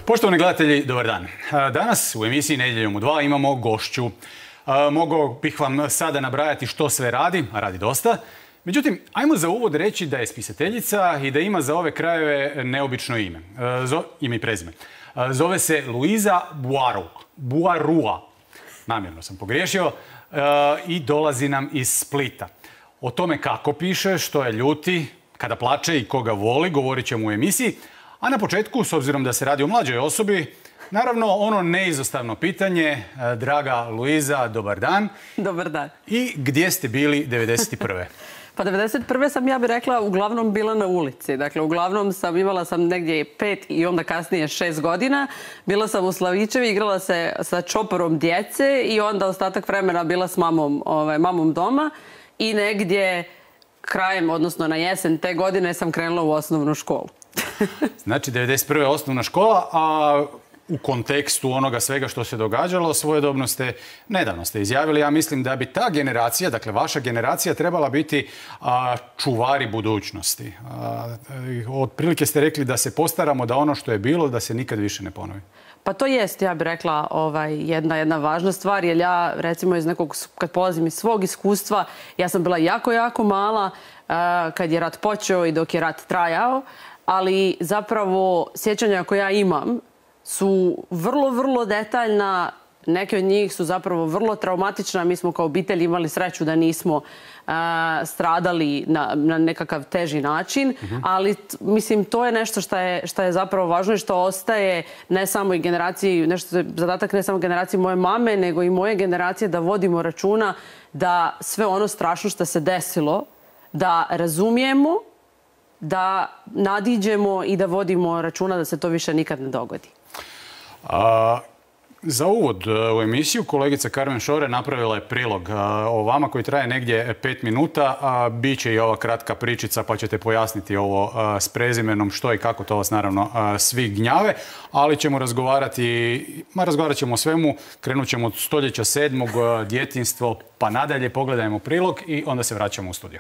Poštovani gledatelji, dobar dan. Danas u emisiji Nedjeljom u 2 imamo gošću. Mogao bih vam sada nabrajati što sve radi, a radi dosta. Međutim, ajmo za uvod reći da je spisateljica i da ima za ove krajeve neobično ime. Ime i prezime. Zove se Luisa Buarua. Namjerno sam pogriješio. I dolazi nam iz Splita. O tome kako piše, što je ljuti, kada plače i koga voli, govorit ćemo u emisiji. A na početku, s obzirom da se radi o mlađoj osobi, naravno ono neizostavno pitanje. Draga Luisa, dobar dan. Dobar dan. I gdje ste bili 91. Pa 91. sam, ja bih rekla, uglavnom bila na ulici. Dakle, uglavnom imala sam negdje 5 i onda kasnije 6 godina. Bila sam u Slavičevi, igrala se sa čoporom djece i onda ostatak vremena bila s mamom doma. I negdje krajem, odnosno na jesen te godine sam krenula u osnovnu školu. Znači, 91. osnovna škola, a u kontekstu onoga svega što se događalo, svojedobno nedavno ste izjavili, ja mislim da bi ta generacija, dakle vaša generacija, trebala biti čuvari budućnosti. Otprilike ste rekli da se postaramo da ono što je bilo, da se nikad više ne ponovi. Pa to jest, ja bih rekla, jedna važna stvar, jer ja, recimo, kad polazim iz svog iskustva, ja sam bila jako, jako mala kad je rat počeo i dok je rat trajao, ali zapravo sjećanja koja ja imam su vrlo, vrlo detaljna. Neke od njih su zapravo vrlo traumatična. Mi smo kao obitelj imali sreću da nismo stradali na nekakav teži način, ali mislim to je nešto što je zapravo važno i što ostaje ne samo i generaciji, zadatak ne samo generaciji moje mame, nego i moje generacije, da vodimo računa da sve ono strašno što se desilo, da razumijemo, da nadiđemo i da vodimo računa da se to više nikad ne dogodi. Za uvod u emisiju kolegica Carmen Šore napravila je prilog o vama koji traje negdje 5 minuta. Biće i ova kratka pričica pa ćete pojasniti ovo s prezimenom što i kako, to vas naravno svi gnjave. Ali ćemo razgovarat ćemo o svemu. Krenut ćemo od stoljeća 7. djetinjstvo pa nadalje. Pogledajmo prilog i onda se vraćamo u studio.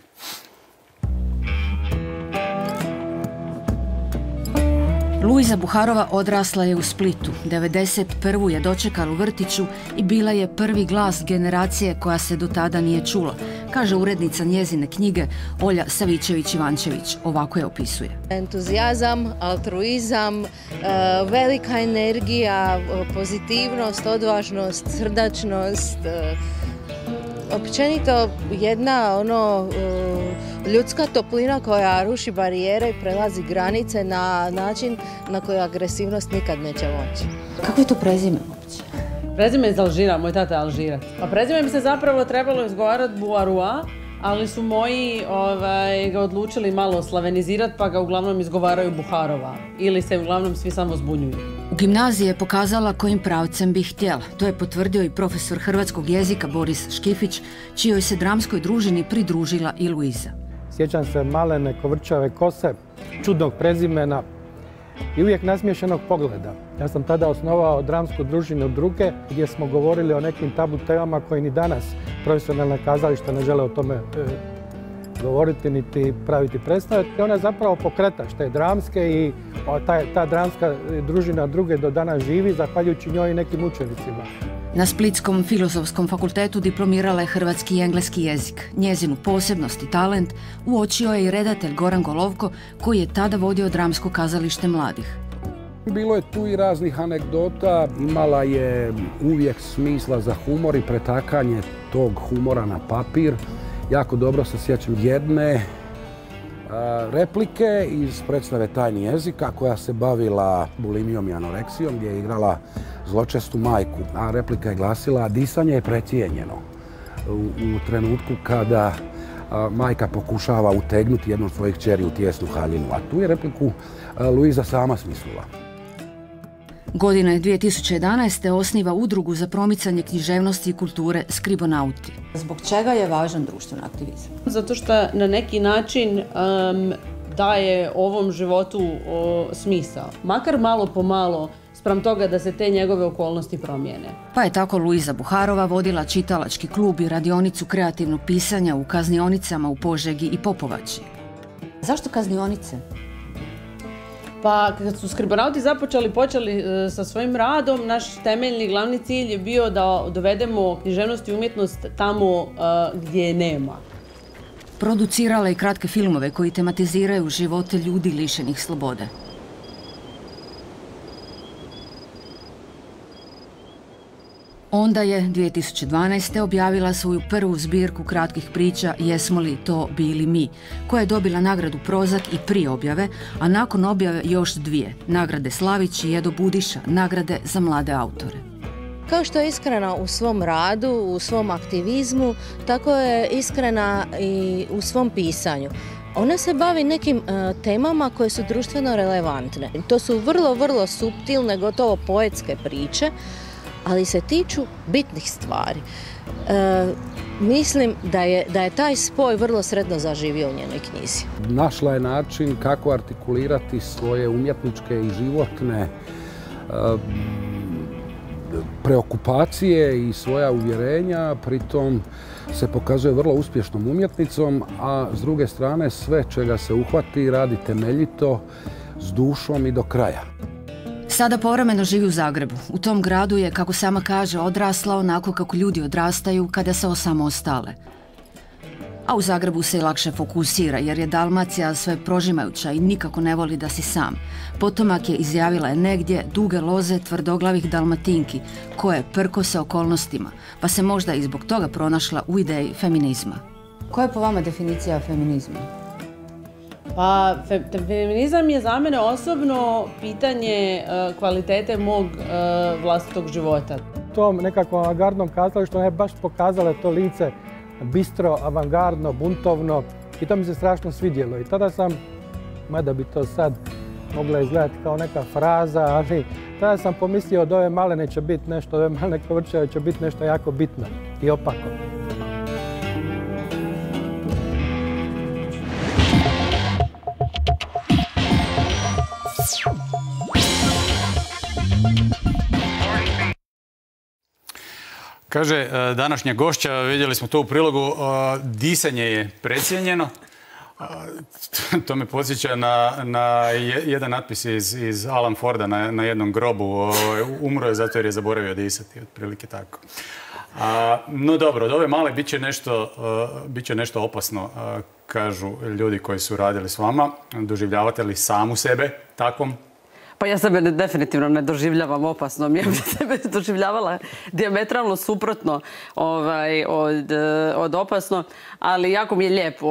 Luisa Buharova odrasla je u Splitu. 91. je dočekala u vrtiću i bila je prvi glas generacije koja se do tada nije čula, kaže urednica njezine knjige Olja Savičević-Ivančević. Ovako je opisuje. Entuzijazam, altruizam, velika energija, pozitivnost, odvažnost, srdačnost, općenito jedna ljudska toplina koja ruši barijere i prelazi granice na način na koji agresivnost nikad neće moći. Kako je to prezime uopće? Prezime je iz Alžira, moj tata je Alžirac. A prezime bi se zapravo trebalo izgovarati Buarua, ali su moji ga odlučili malo slavenizirati pa ga uglavnom izgovaraju Buharova. Ili se uglavnom svi samo zbunjuju. U gimnaziji je pokazala kojim pravcem bi htjela. To je potvrdio i profesor hrvatskog jezika Boris Škifić, čijoj se dramskoj družini pridružila i Luisa. Sjećam se malene kovrčave kose, čudnog prezimena i uvijek nasmiješenog pogleda. Ja sam tada osnovao dramsku družinu Druge, gdje smo govorili o nekim tabu temama koji ni danas profesionalna kazališta ne žele o tome govoriti niti praviti predstave. Ona je zapravo pokretač te dramske i ta dramska družina Druge do danas živi zahvaljujući njoj i nekim učenicima. Na Splitskom filozofskom fakultetu diplomirala je hrvatski i engleski jezik. Njezinu posebnost i talent uočio je i redatelj Goran Golovko, koji je tada vodio dramsko kazalište mladih. Bilo je tu i raznih anegdota, imala je uvijek smisla za humor i pretakanje tog humora na papir. Jako dobro se sjećam jedne replike iz predstave Tajni jezika koja se bavila bulimijom i anoreksijom, gdje je igrala zločestu majku. A replika je glasila: disanje je precijenjeno. U trenutku kada majka pokušava utegnuti jednu od svojih kćeri u tijesnu haljinu. A tu je repliku Luisa sama smislila. Godine 2011. osniva udrugu za promicanje književnosti i kulture Skribonauti. Zbog čega je važan društveni aktivizam? Zato što na neki način daje ovom životu smisao. Makar malo po malo, spram toga da se te njegove okolnosti promijene. Pa je tako Luisa Buharova vodila čitalački klub i radionicu kreativnog pisanja u kaznionicama u Požegi i Popovači. Zašto kaznionice? Pa kad su skribonauti počeli sa svojim radom, naš temeljni glavni cilj je bio da dovedemo književnost i umjetnost tamo gdje je nema. Producirala je kratke filmove koji tematiziraju živote ljudi lišenih slobode. Onda je 2012. objavila svoju prvu zbirku kratkih priča Jesmo li to bili mi, koja je dobila nagradu Prozak i prije objave, a nakon objave još dvije, nagrade Slavić i Edo Budiša, nagrade za mlade autore. Kao što je iskrena u svom radu, u svom aktivizmu, tako je iskrena i u svom pisanju. Ona se bavi nekim temama koje su društveno relevantne. To su vrlo, vrlo suptilne, gotovo poetske priče, ali se tiču bitnih stvari. Mislim da je taj spoj vrlo sretno zaživio u njenoj knjizi. Našla je način kako artikulirati svoje umjetničke i životne preokupacije i svoja uvjerenja, pritom se pokazuje vrlo uspješnom umjetnicom, a s druge strane sve čega se uhvati radi temeljito, s dušom i do kraja. Sada povremeno živi u Zagrebu. U tom gradu je, kako sama kaže, odrasla onako kako ljudi odrastaju kada se osamostale. A u Zagrebu se i lakše fokusira jer je Dalmacija sve prožimajuća i nikako ne voli da si sam. Potomak je, izjavila je, negdje duge loze tvrdoglavih Dalmatinki koje prkose okolnostima, pa se možda i zbog toga pronašla u ideji feminizma. Koja je po vama definicija feminizma? Pa, feminizam je za mene osobno pitanje kvalitete mog vlastitog života. Tom nekakvom avangardnom kazalištu ona je baš pokazala to lice bistro, avangardno, buntovno i to mi se strašno svidjelo. I tada sam, mada bi to sad mogla izgledati kao neka fraza, ali tada sam pomislio od ove malene će biti nešto, od ove malene Kovrčeve će biti nešto jako bitno i opako. Kaže današnja gošća, vidjeli smo to u prilogu, disanje je precijenjeno. To me podsjeća na jedan natpis iz Alan Forda na jednom grobu. Umro je zato jer je zaboravio disati, otprilike tako. No dobro, od ove male bit će nešto opasno, kažu ljudi koji su radili s vama. Doživljavate li samu sebe takvom? Pa ja sebe definitivno ne doživljavam opasnom. Ja bih sebe doživljavala dijametralno suprotno od opasno, ali jako mi je lijep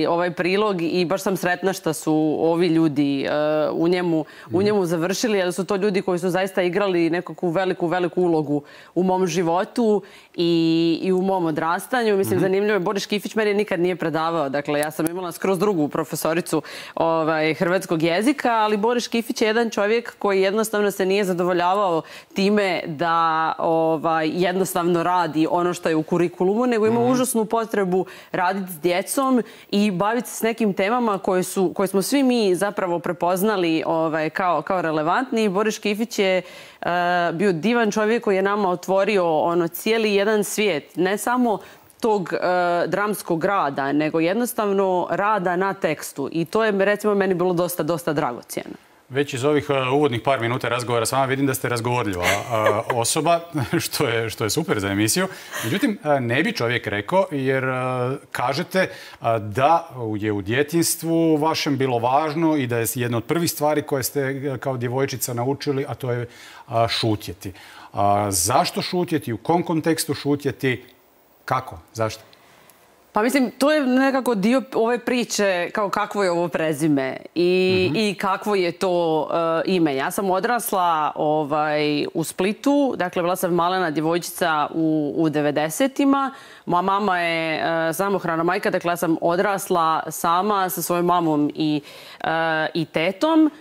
ovaj prilog i baš sam sretna što su ovi ljudi u njemu završili, jer su to ljudi koji su zaista igrali nekakvu veliku ulogu u mom životu i u mom odrastanju. Mislim, zanimljivo je, Boris Škifić meni nikad nije predavao. Dakle, ja sam imala skroz drugu profesoricu hrvatskog jezika, ali Boris Škifić je jedan čovjek koji jednostavno se nije zadovoljavao time da jednostavno radi ono što je u kurikulumu, nego ima užasnu potrebu raditi s djecom i baviti se s nekim temama koje smo svi mi zapravo prepoznali kao relevantni. Boris Škifić je bio divan čovjek koji je nama otvorio cijeli jedan svijet, ne samo tog dramskog rada, nego jednostavno rada na tekstu. I to je, recimo, meni bilo dosta dragocjeno. Već iz ovih uvodnih par minuta razgovora s vama vidim da ste razgovorljiva osoba, što je super za emisiju. Međutim, ne bi čovjek rekao, jer kažete da je u djetinjstvu vašem bilo važno i da je jedna od prvih stvari koje ste kao djevojčica naučili, a to je šutjeti. Zašto šutjeti? U kom kontekstu šutjeti? Kako? Zašto? Pa mislim, to je nekako dio ove priče kao kakvo je ovo prezime i kakvo je to ime. Ja sam odrasla u Splitu, dakle bila sam malena djevojčica u 90-ima. Moja mama je samohrana majka, dakle ja sam odrasla sama sa svojom mamom i tetom.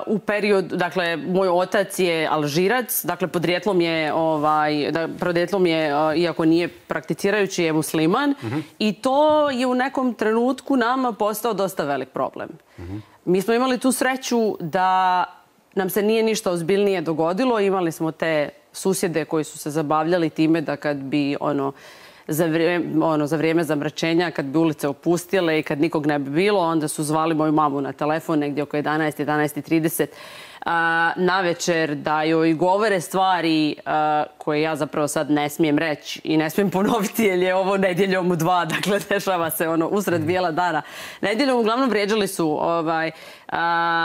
U periodu, dakle, moj otac je Alžirac, dakle, podrijetlom je, iako nije prakticirajući, je musliman i to je u nekom trenutku nama postao dosta velik problem. Mi smo imali tu sreću da nam se nije ništa ozbiljnije dogodilo, imali smo te susjede koji su se zabavljali time da kad bi za vrijeme zamračenja, kad bi ulice opustile i kad nikog ne bi bilo, onda su zvali moju mamu na telefon negdje oko 11:30 na večer da joj govore stvari koje ja zapravo sad ne smijem reći i ne smijem ponoviti jer je ovo nedjeljom u 2, dakle dešava se usred bijela dana. Nedjeljom uglavnom vrijeđali su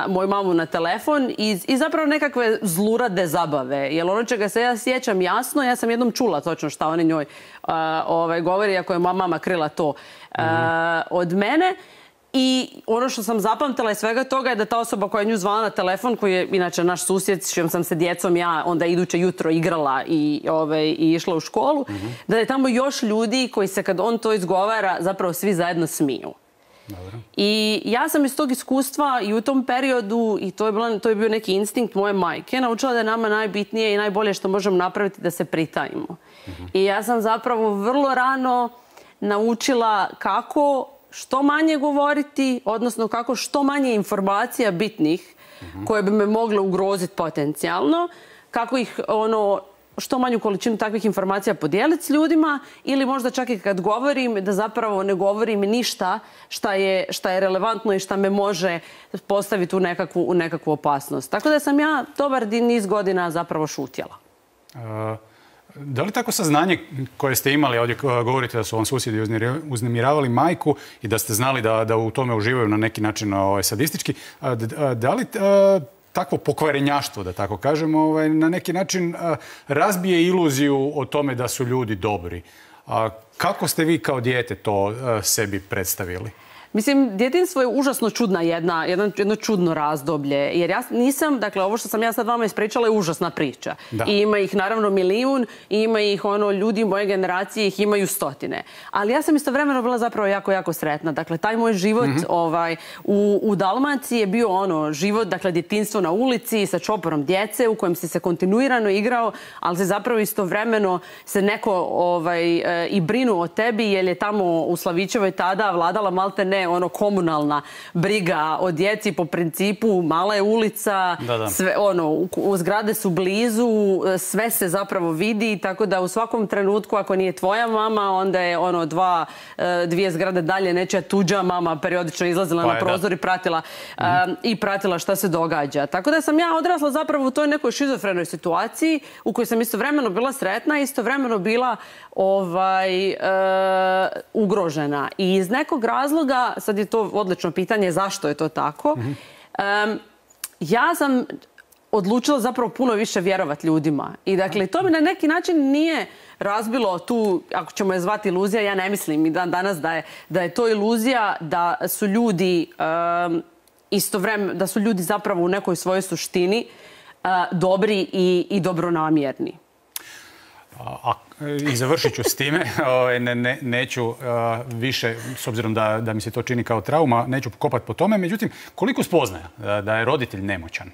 moju mamu na telefon i zapravo nekakve zlurade zabave. Jer ono čega se ja sjećam jasno, ja sam jednom čula točno šta oni njoj govori, ako je moja mama krila to od mene. I ono što sam zapamtila iz svega toga je da ta osoba koja je nju zvala na telefon, koji je inače naš susjed, s čijom sam se djecom ja onda iduće jutro igrala i išla u školu, da je tamo još ljudi koji se kad on to izgovara zapravo svi zajedno smiju. Dobro. I ja sam iz tog iskustva i u tom periodu, i to je bio neki instinkt moje majke, naučila da je nama najbitnije i najbolje što možemo napraviti da se pritajimo. I ja sam zapravo vrlo rano naučila kako što manje govoriti, odnosno kako što manje informacija bitnih koje bi me mogle ugroziti potencijalno, kako ih što manju količinu takvih informacija podijeliti s ljudima ili možda čak i kad govorim da zapravo ne govorim ništa šta je relevantno i šta me može postaviti u nekakvu opasnost. Tako da sam ja dobar niz godina zapravo šutjela. Da li tako saznanje koje ste imali, ovdje govorite da su vam susjedi uznemiravali majku i da ste znali da u tome uživaju na neki način sadistički, da li takvo pokvarenjaštvo, da tako kažemo, na neki način razbije iluziju o tome da su ljudi dobri? Kako ste vi kao dijete to sebi predstavili? Mislim, djetinjstvo je užasno čudna jedno čudno razdoblje. Jer ja nisam, dakle, ovo što sam ja sad vama ispričala je užasna priča. Da. I ima ih naravno milijun, i ima ih ljudi moje generacije, ih imaju stotine. Ali ja sam istovremeno bila zapravo jako, jako sretna. Dakle, taj moj život u Dalmaciji je bio život, dakle, djetinjstvo na ulici sa čoporom djece u kojem si se kontinuirano igrao, ali se zapravo istovremeno se neko i brinuo o tebi, jer je tamo u Slavićevoj tada vladala malte ne komunalna briga o djeci po principu mala je ulica, sve, zgrade su blizu, sve se zapravo vidi, tako da u svakom trenutku ako nije tvoja mama, onda je dvije zgrade dalje nečija tuđa mama periodično izlazila na prozor i pratila šta se događa. Tako da sam ja odrasla zapravo u toj nekoj šizofrenoj situaciji u kojoj sam istovremeno bila sretna i istovremeno bila ugrožena. I iz nekog razloga, sad je to odlično pitanje zašto je to tako, ja sam odlučila zapravo puno više vjerovati ljudima. I dakle, to mi na neki način nije razbilo tu, ako ćemo je zvati iluzija, ja ne mislim i dan danas da je to iluzija, da su ljudi istovremeno, da su ljudi zapravo u nekoj svojoj suštini dobri i dobronamjerni. I završit ću s time, neću više, s obzirom da mi se to čini kao trauma, neću kopati po tome. Međutim, koliko spoznaja da je roditelj nemoćan,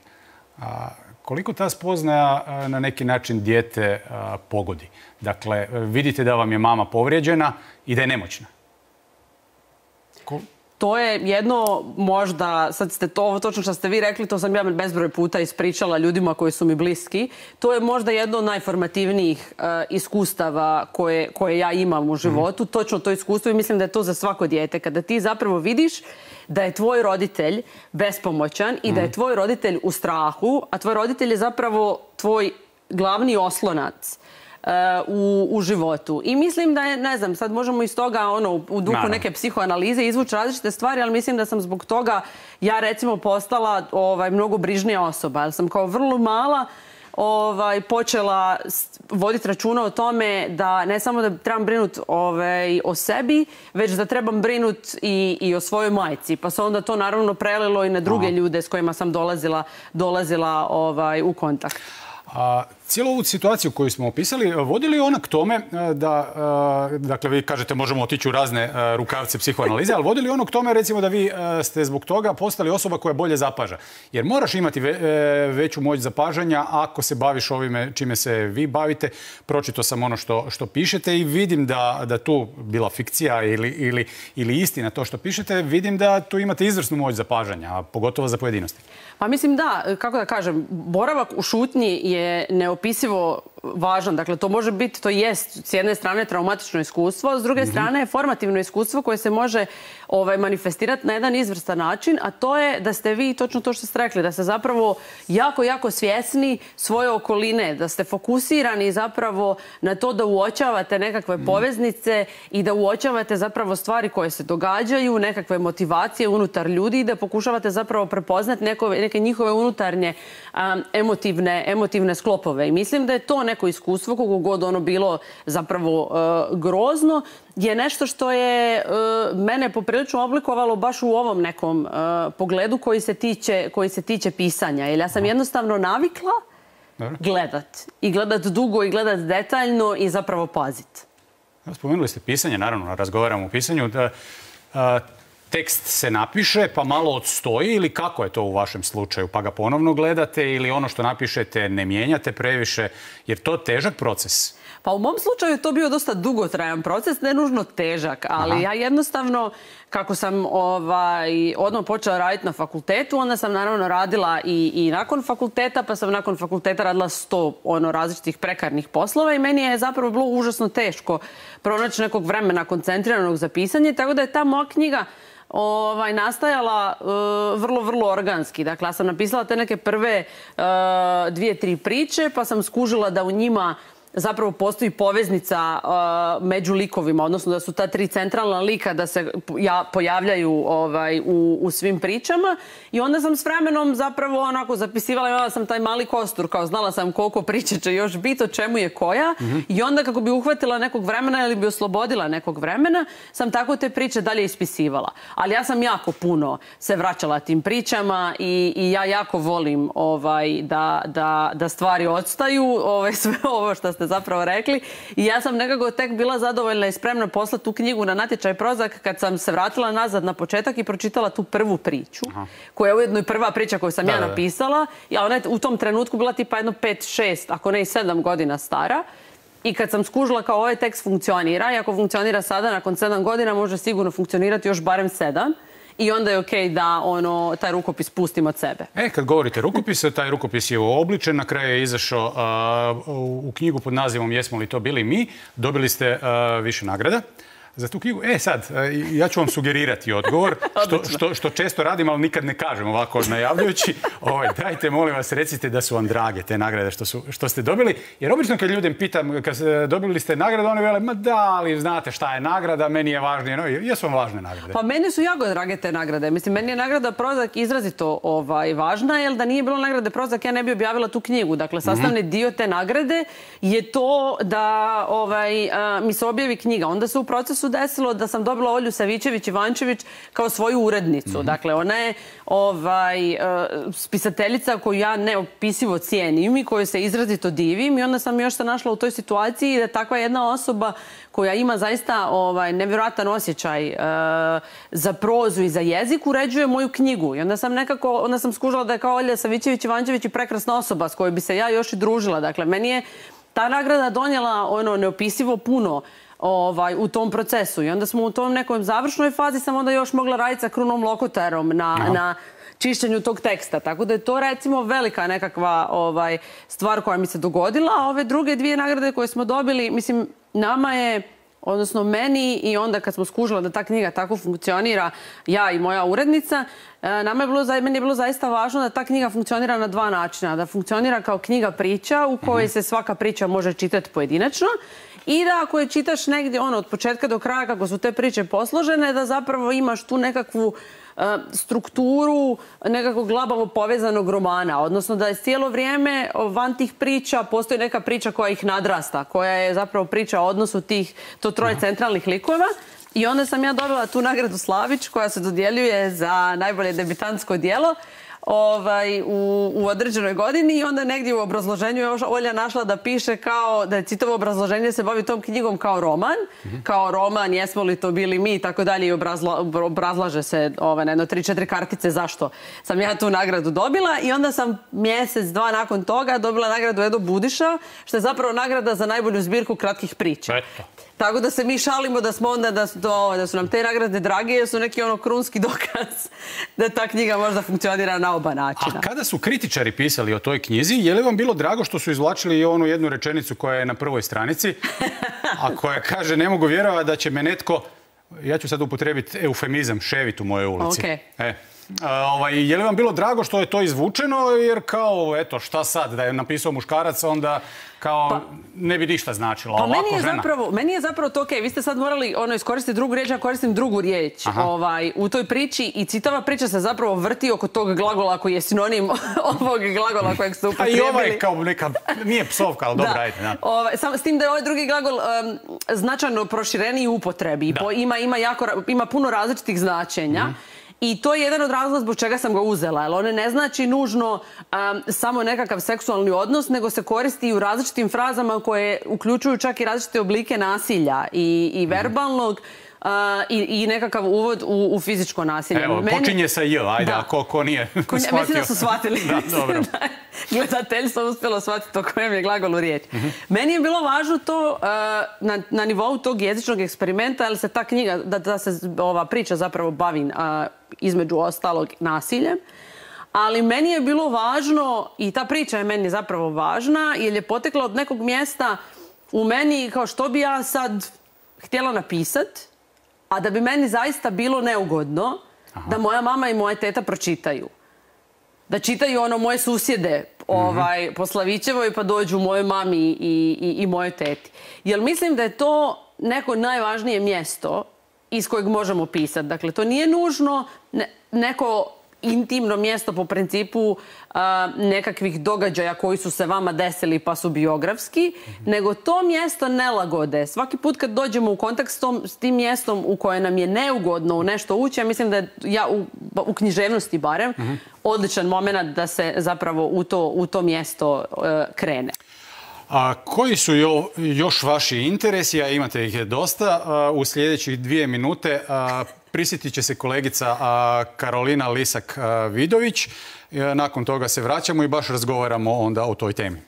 koliko ta spoznaja na neki način dijete pogodi? Dakle, vidite da vam je mama povrijeđena i da je nemoćna. To je jedno, možda, sad ste to točno što ste vi rekli, to sam ja bezbroj puta ispričala ljudima koji su mi bliski. To je možda jedno od najformativnijih iskustava koje ja imam u životu. Točno to iskustvo i mislim da je to za svako dijete. Kada ti zapravo vidiš da je tvoj roditelj bespomoćan i da je tvoj roditelj u strahu, a tvoj roditelj je zapravo tvoj glavni oslonac u životu. I mislim da je, ne znam, sad možemo iz toga u duhu neke psihoanalize izvući različite stvari, ali mislim da sam zbog toga ja recimo postala mnogo brižnija osoba. Jer sam kao vrlo mala počela voditi računa o tome da ne samo da trebam brinuti o sebi, već da trebam brinuti i o svojoj majci. Pa se onda to naravno prelilo i na druge ljude s kojima sam dolazila u kontakt. Cijelu ovu situaciju koju smo opisali, vodi li ona k tome da, dakle vi kažete možemo otići u razne rukavce psihoanalize, ali vodi li ono k tome recimo da vi ste zbog toga postali osoba koja bolje zapaža? Jer moraš imati veću moć zapažanja ako se baviš ovime čime se vi bavite. Pročito sam ono što pišete i vidim da tu bila fikcija ili istina to što pišete, vidim da tu imate izvrsnu moć zapažanja, pogotovo za pojedinosti. Pa mislim da, kako da kažem, boravak u šutnji je neopisivo važan. Dakle, to može biti, to jest s jedne strane traumatično iskustvo, a s druge strane formativno iskustvo koje se može manifestirati na jedan izvrstan način, a to je da ste vi, točno to što ste rekli, da ste zapravo jako, jako svjesni svoje okoline, da ste fokusirani zapravo na to da uočavate nekakve poveznice i da uočavate zapravo stvari koje se događaju, nekakve motivacije unutar ljudi i da pokušavate zapravo prepoznati neke njihove unutarnje emotivne sklopove. I mislim da je to neko iskustvo, koliko god ono bilo zapravo grozno, je nešto što je mene poprilično oblikovalo baš u ovom nekom pogledu koji se tiče pisanja. Jer ja sam jednostavno navikla gledat. I gledat dugo i gledat detaljno i zapravo pazit. Spomenuli ste pisanje, naravno, razgovaramo o pisanju. Tekst se napiše, pa malo odstoji ili kako je to u vašem slučaju? Pa ga ponovno gledate ili ono što napišete ne mijenjate previše? Jer to je težak proces? Pa u mom slučaju je to bio dosta dugotrajan proces, ne nužno težak, ali ja jednostavno, kako sam odmah počela raditi na fakultetu, onda sam naravno radila i nakon fakulteta, pa sam nakon fakulteta radila 100 različitih prekarnih poslova i meni je zapravo bilo užasno teško pronaći nekog vremena koncentriranog za pisanje, tako da je ta moja knjiga nastajala vrlo, vrlo organski. Dakle, ja sam napisala te neke prve 2-3 priče, pa sam skužila da u njima zapravo postoji poveznica među likovima, odnosno da su ta 3 centralna lika da se pojavljaju u svim pričama. I onda sam s vremenom zapravo onako zapisivala, imala sam taj mali kostur, kao znala sam koliko priče će još biti, o čemu je koja. I onda kako bi uhvatila nekog vremena ili bi oslobodila nekog vremena, sam tako te priče dalje ispisivala. Ali ja sam jako puno se vraćala tim pričama i ja jako volim da stvari odstaju, sve ovo što ste zapravo rekli. I ja sam nekako tek bila zadovoljna i spremna poslati tu knjigu na natječaj Prozak kad sam se vratila nazad na početak i pročitala tu prvu priču, koja je ujedno i prva priča koju sam ja napisala. Ja ona je u tom trenutku bila tipa jedno 5, 6, ako ne i 7 godina stara. I kad sam skužila kao ovaj tekst funkcionira, i ako funkcionira sada, nakon 7 godina, može sigurno funkcionirati još barem 7. I onda je okej da taj rukopis pustim od sebe. Kad govorite rukopise, taj rukopis je uobličen. Na kraju je izašao u knjigu pod nazivom Jesmo li to bili mi. Dobili ste više nagrada za tu knjigu. Sad, ja ću vam sugerirati odgovor, što često radim, ali nikad ne kažem ovako najavljujući. Dajte, molim vas, recite da su vam drage te nagrade što ste dobili. Jer obično kad ljudem pitam, kad dobili ste nagradu, oni vele, ma da, ali znate šta je nagrada, meni je važnije. Jesu vam važne nagrade? Pa meni su jako drage te nagrade. Mislim, meni je nagrada Prozak izrazito važna, jer da nije bilo nagrade Prozak, ja ne bi objavila tu knjigu. Dakle, sastavni dio te nagrade je to da mi se objavi knjiga. Onda se u procesu desilo da sam dobila Olju Savićević-Ivančević kao svoju urednicu. Dakle, ona je spisateljica koju ja neopisivo cijenim i koju se izrazito divim i onda sam još se našla u toj situaciji da takva jedna osoba koja ima zaista nevjerojatan osjećaj za prozu i za jezik uređuje moju knjigu. I onda sam skužila da je kao Olja Savićević-Ivančević i prekrasna osoba s kojoj bi se ja još i družila. Dakle, meni je ta nagrada donijela neopisivo puno u tom procesu. I onda smo u tom nekoj završnoj fazi sam onda još mogla raditi sa Krunom Lokotarom na čišćenju tog teksta. Tako da je to recimo velika nekakva stvar koja mi se dogodila. A ove druge 2 nagrade koje smo dobili, mislim, nama je, odnosno meni i onda kad smo skužila da ta knjiga tako funkcionira, ja i moja urednica, meni je bilo zaista važno da ta knjiga funkcionira na 2 načina. Da funkcionira kao knjiga priča u kojoj se svaka priča može čitati pojedinačno i da ako je čitaš negdje od početka do kraja kako su te priče posložene, da zapravo imaš tu nekakvu strukturu nekakvog labavo povezanog romana. Odnosno da je cijelo vrijeme van tih priča postoji neka priča koja ih nadrasta, koja je zapravo priča o odnosu to 3 centralnih likova. I onda sam ja dobila tu nagradu Slavić koja se dodjeljuje za najbolje debitantsko djelo u određenoj godini i onda negdje u obrazloženju je Olja našla da piše kao da je čitavo obrazloženje se bavi tom knjigom kao roman Jesmo li to bili mi i tako dalje i obrazlaže se na jedno 3-4 kartice zašto sam ja tu nagradu dobila i onda sam mjesec, 2 nakon toga dobila nagradu Edo Budiša, što je zapravo nagrada za najbolju zbirku kratkih priča. Tako da se mi šalimo da smo onda, da su nam te nagrade drage, jer su neki krunski dokaz da ta knjiga možda funkcionira na oba načina. A kada su kritičari pisali o toj knjizi, je li vam bilo drago što su izvlačili i onu jednu rečenicu koja je na prvoj stranici, a koja kaže ne mogu vjerovati da će me netko, ja ću sad upotrijebiti eufemizam, ševit u mojoj ulici. Je li vam bilo drago što je to izvučeno, jer kao, eto, šta sad, da je napisao muškarac, onda kao ne bi ništa značilo. Pa meni je zapravo to okej. Vi ste sad morali iskoristiti drugu riječ, ja koristim drugu riječ u toj priči i čitava priča se zapravo vrti oko tog glagola koji je sinonim ovog glagola kojeg ste upotrijebili. A i ovaj kao neka, nije psovka, ali dobro, ajde. S tim da je ovaj drugi glagol značajno prošireniji u upotrebi. Ima puno različitih značenja. I to je jedan od razloga zbog čega sam ga uzela, jer on ne znači nužno samo nekakav seksualni odnos, nego se koristi i u različitim frazama koje uključuju čak i različite oblike nasilja i verbalnog i nekakav uvod u fizičko nasilje. Evo, počinje sa J, ajde, a ko nije shvatio. Mislim da su shvatili. Dobro. Gledateljstvo uspjelo shvatiti o kojem je glagolu riječ. Meni je bilo važno to na nivou tog jezičnog eksperimenta, ali se ta knjiga, da se ova priča zapravo bavi između ostalog nasiljem. Ali meni je bilo važno, i ta priča je meni zapravo važna, jer je potekla od nekog mjesta u meni kao što bi ja sad htjela napisati, a da bi meni zaista bilo neugodno da moja mama i moja teta pročitaju. Da čitaju moje susjede po Slavićevoj pa dođu mojoj mami i mojoj teti. Jer mislim da je to neko najvažnije mjesto iz kojeg možemo pisati. Dakle, to nije nužno neko intimno mjesto po principu nekakvih događaja koji su se vama desili pa su biografski, nego to mjesto nelagode. Svaki put kad dođemo u kontakt s tim mjestom u koje nam je neugodno u nešto ući, ja mislim da je u književnosti barem odličan moment da se zapravo u to mjesto krene. A koji su još vaši interesi, a imate ih dosta, u sljedećih 2 minute prisjetit će se kolegica Karolina Lisak-Vidović. Nakon toga se vraćamo i baš razgovaramo onda o toj temi.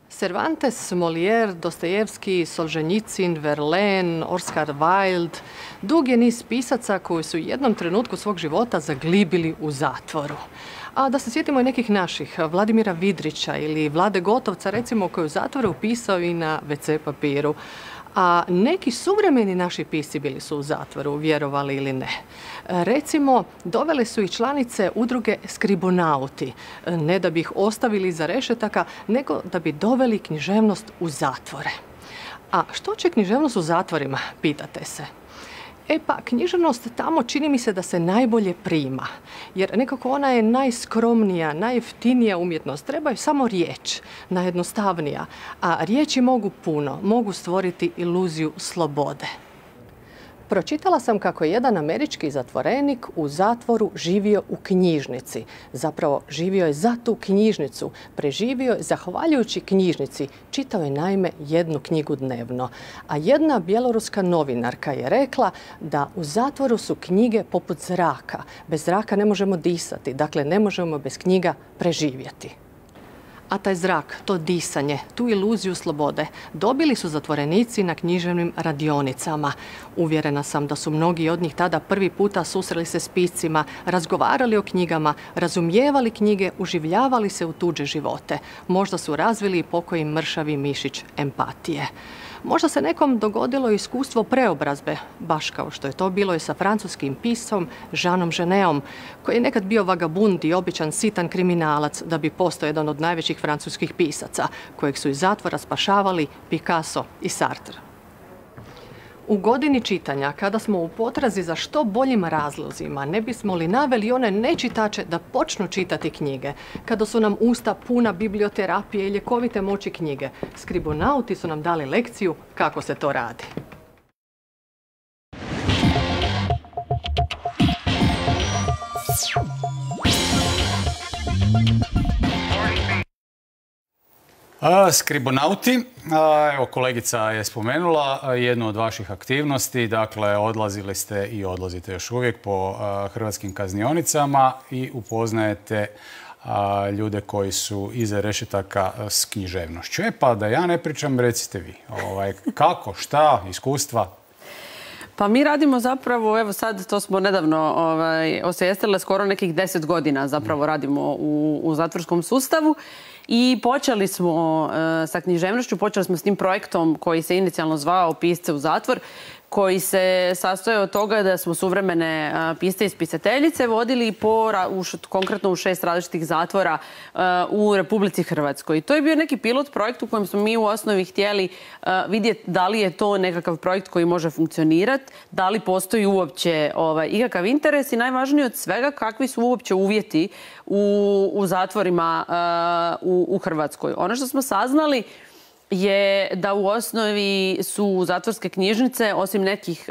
Cervantes, Molière, Dostojevski, Solženjicin, Verlaine, Oscar Wilde, dug je niz pisaca koji su u jednom trenutku svog života zaglibili u zatvoru. A da se sjetimo i nekih naših, Vladimira Vidrića ili Vlade Gotovca, recimo, koji je u zatvoru pisao i na WC papiru. A neki suvremeni naši pisci bili su u zatvoru, vjerovali ili ne. Recimo, dovele su i članice udruge Skribonauti, ne da bi ih ostavili iza rešetaka, nego da bi doveli književnost u zatvore. A što će književnost u zatvorima, pitate se? E pa, književnost tamo čini mi se da se najbolje prima, jer nekako ona je najskromnija, najjeftinija umjetnost. Trebaju samo riječ, najjednostavnija, a riječi mogu puno, mogu stvoriti iluziju slobode. Pročitala sam kako je jedan američki zatvorenik u zatvoru živio u knjižnici. Zapravo, živio je za tu knjižnicu. Preživio je zahvaljujući knjižnici. Čitao je naime 1 knjigu dnevno. A jedna bjeloruska novinarka je rekla da u zatvoru su knjige poput zraka. Bez zraka ne možemo disati. Dakle, ne možemo bez knjiga preživjeti. A taj zrak, to disanje, tu iluziju slobode dobili su zatvorenici na književnim radionicama. Uvjerena sam da su mnogi od njih tada prvi puta susreli se s piscima, razgovarali o knjigama, razumijevali knjige, uživljavali se u tuđe živote. Možda su razvili i pokoji mršavi mišić empatije. Možda se nekom dogodilo iskustvo preobrazbe, baš kao što je to bilo i sa francuskim piscom Jeanom Genetom, koji je nekad bio vagabund i običan sitan kriminalac da bi postao jedan od najvećih francuskih pisaca, kojeg su iz zatvora spašavali Picasso i Sartre. U godini čitanja, kada smo u potrazi za što boljim razlozima, ne bismo li naveli one nečitače da počnu čitati knjige, kada su nam usta puna biblioterapije i ljekovite moći knjige, skribonauti su nam dali lekciju kako se to radi. Skribonauti, evo kolegica je spomenula jednu od vaših aktivnosti, dakle odlazili ste i odlazite još uvijek po hrvatskim kaznionicama i upoznajete ljude koji su iza rešetaka s književnošću. Pa da ja ne pričam, recite vi. Kako, šta, iskustva? Pa mi radimo zapravo, evo sad to smo nedavno osvijestile, skoro nekih 10 godina zapravo radimo u zatvorskom sustavu i počeli smo sa književnošću, počeli smo s tim projektom koji se inicijalno zvao Pisce u zatvor, koji se sastoje od toga da smo suvremene pisce i spisateljice vodili konkretno u 6 različitih zatvora u Republici Hrvatskoj. I to je bio neki pilot projekt u kojem smo mi u osnovi htjeli vidjeti da li je to nekakav projekt koji može funkcionirati, da li postoji uopće ikakav interes i najvažnije od svega kakvi su uopće uvjeti u zatvorima u Hrvatskoj. Ono što smo saznali je da u osnovi su zatvorske knjižnice, osim nekih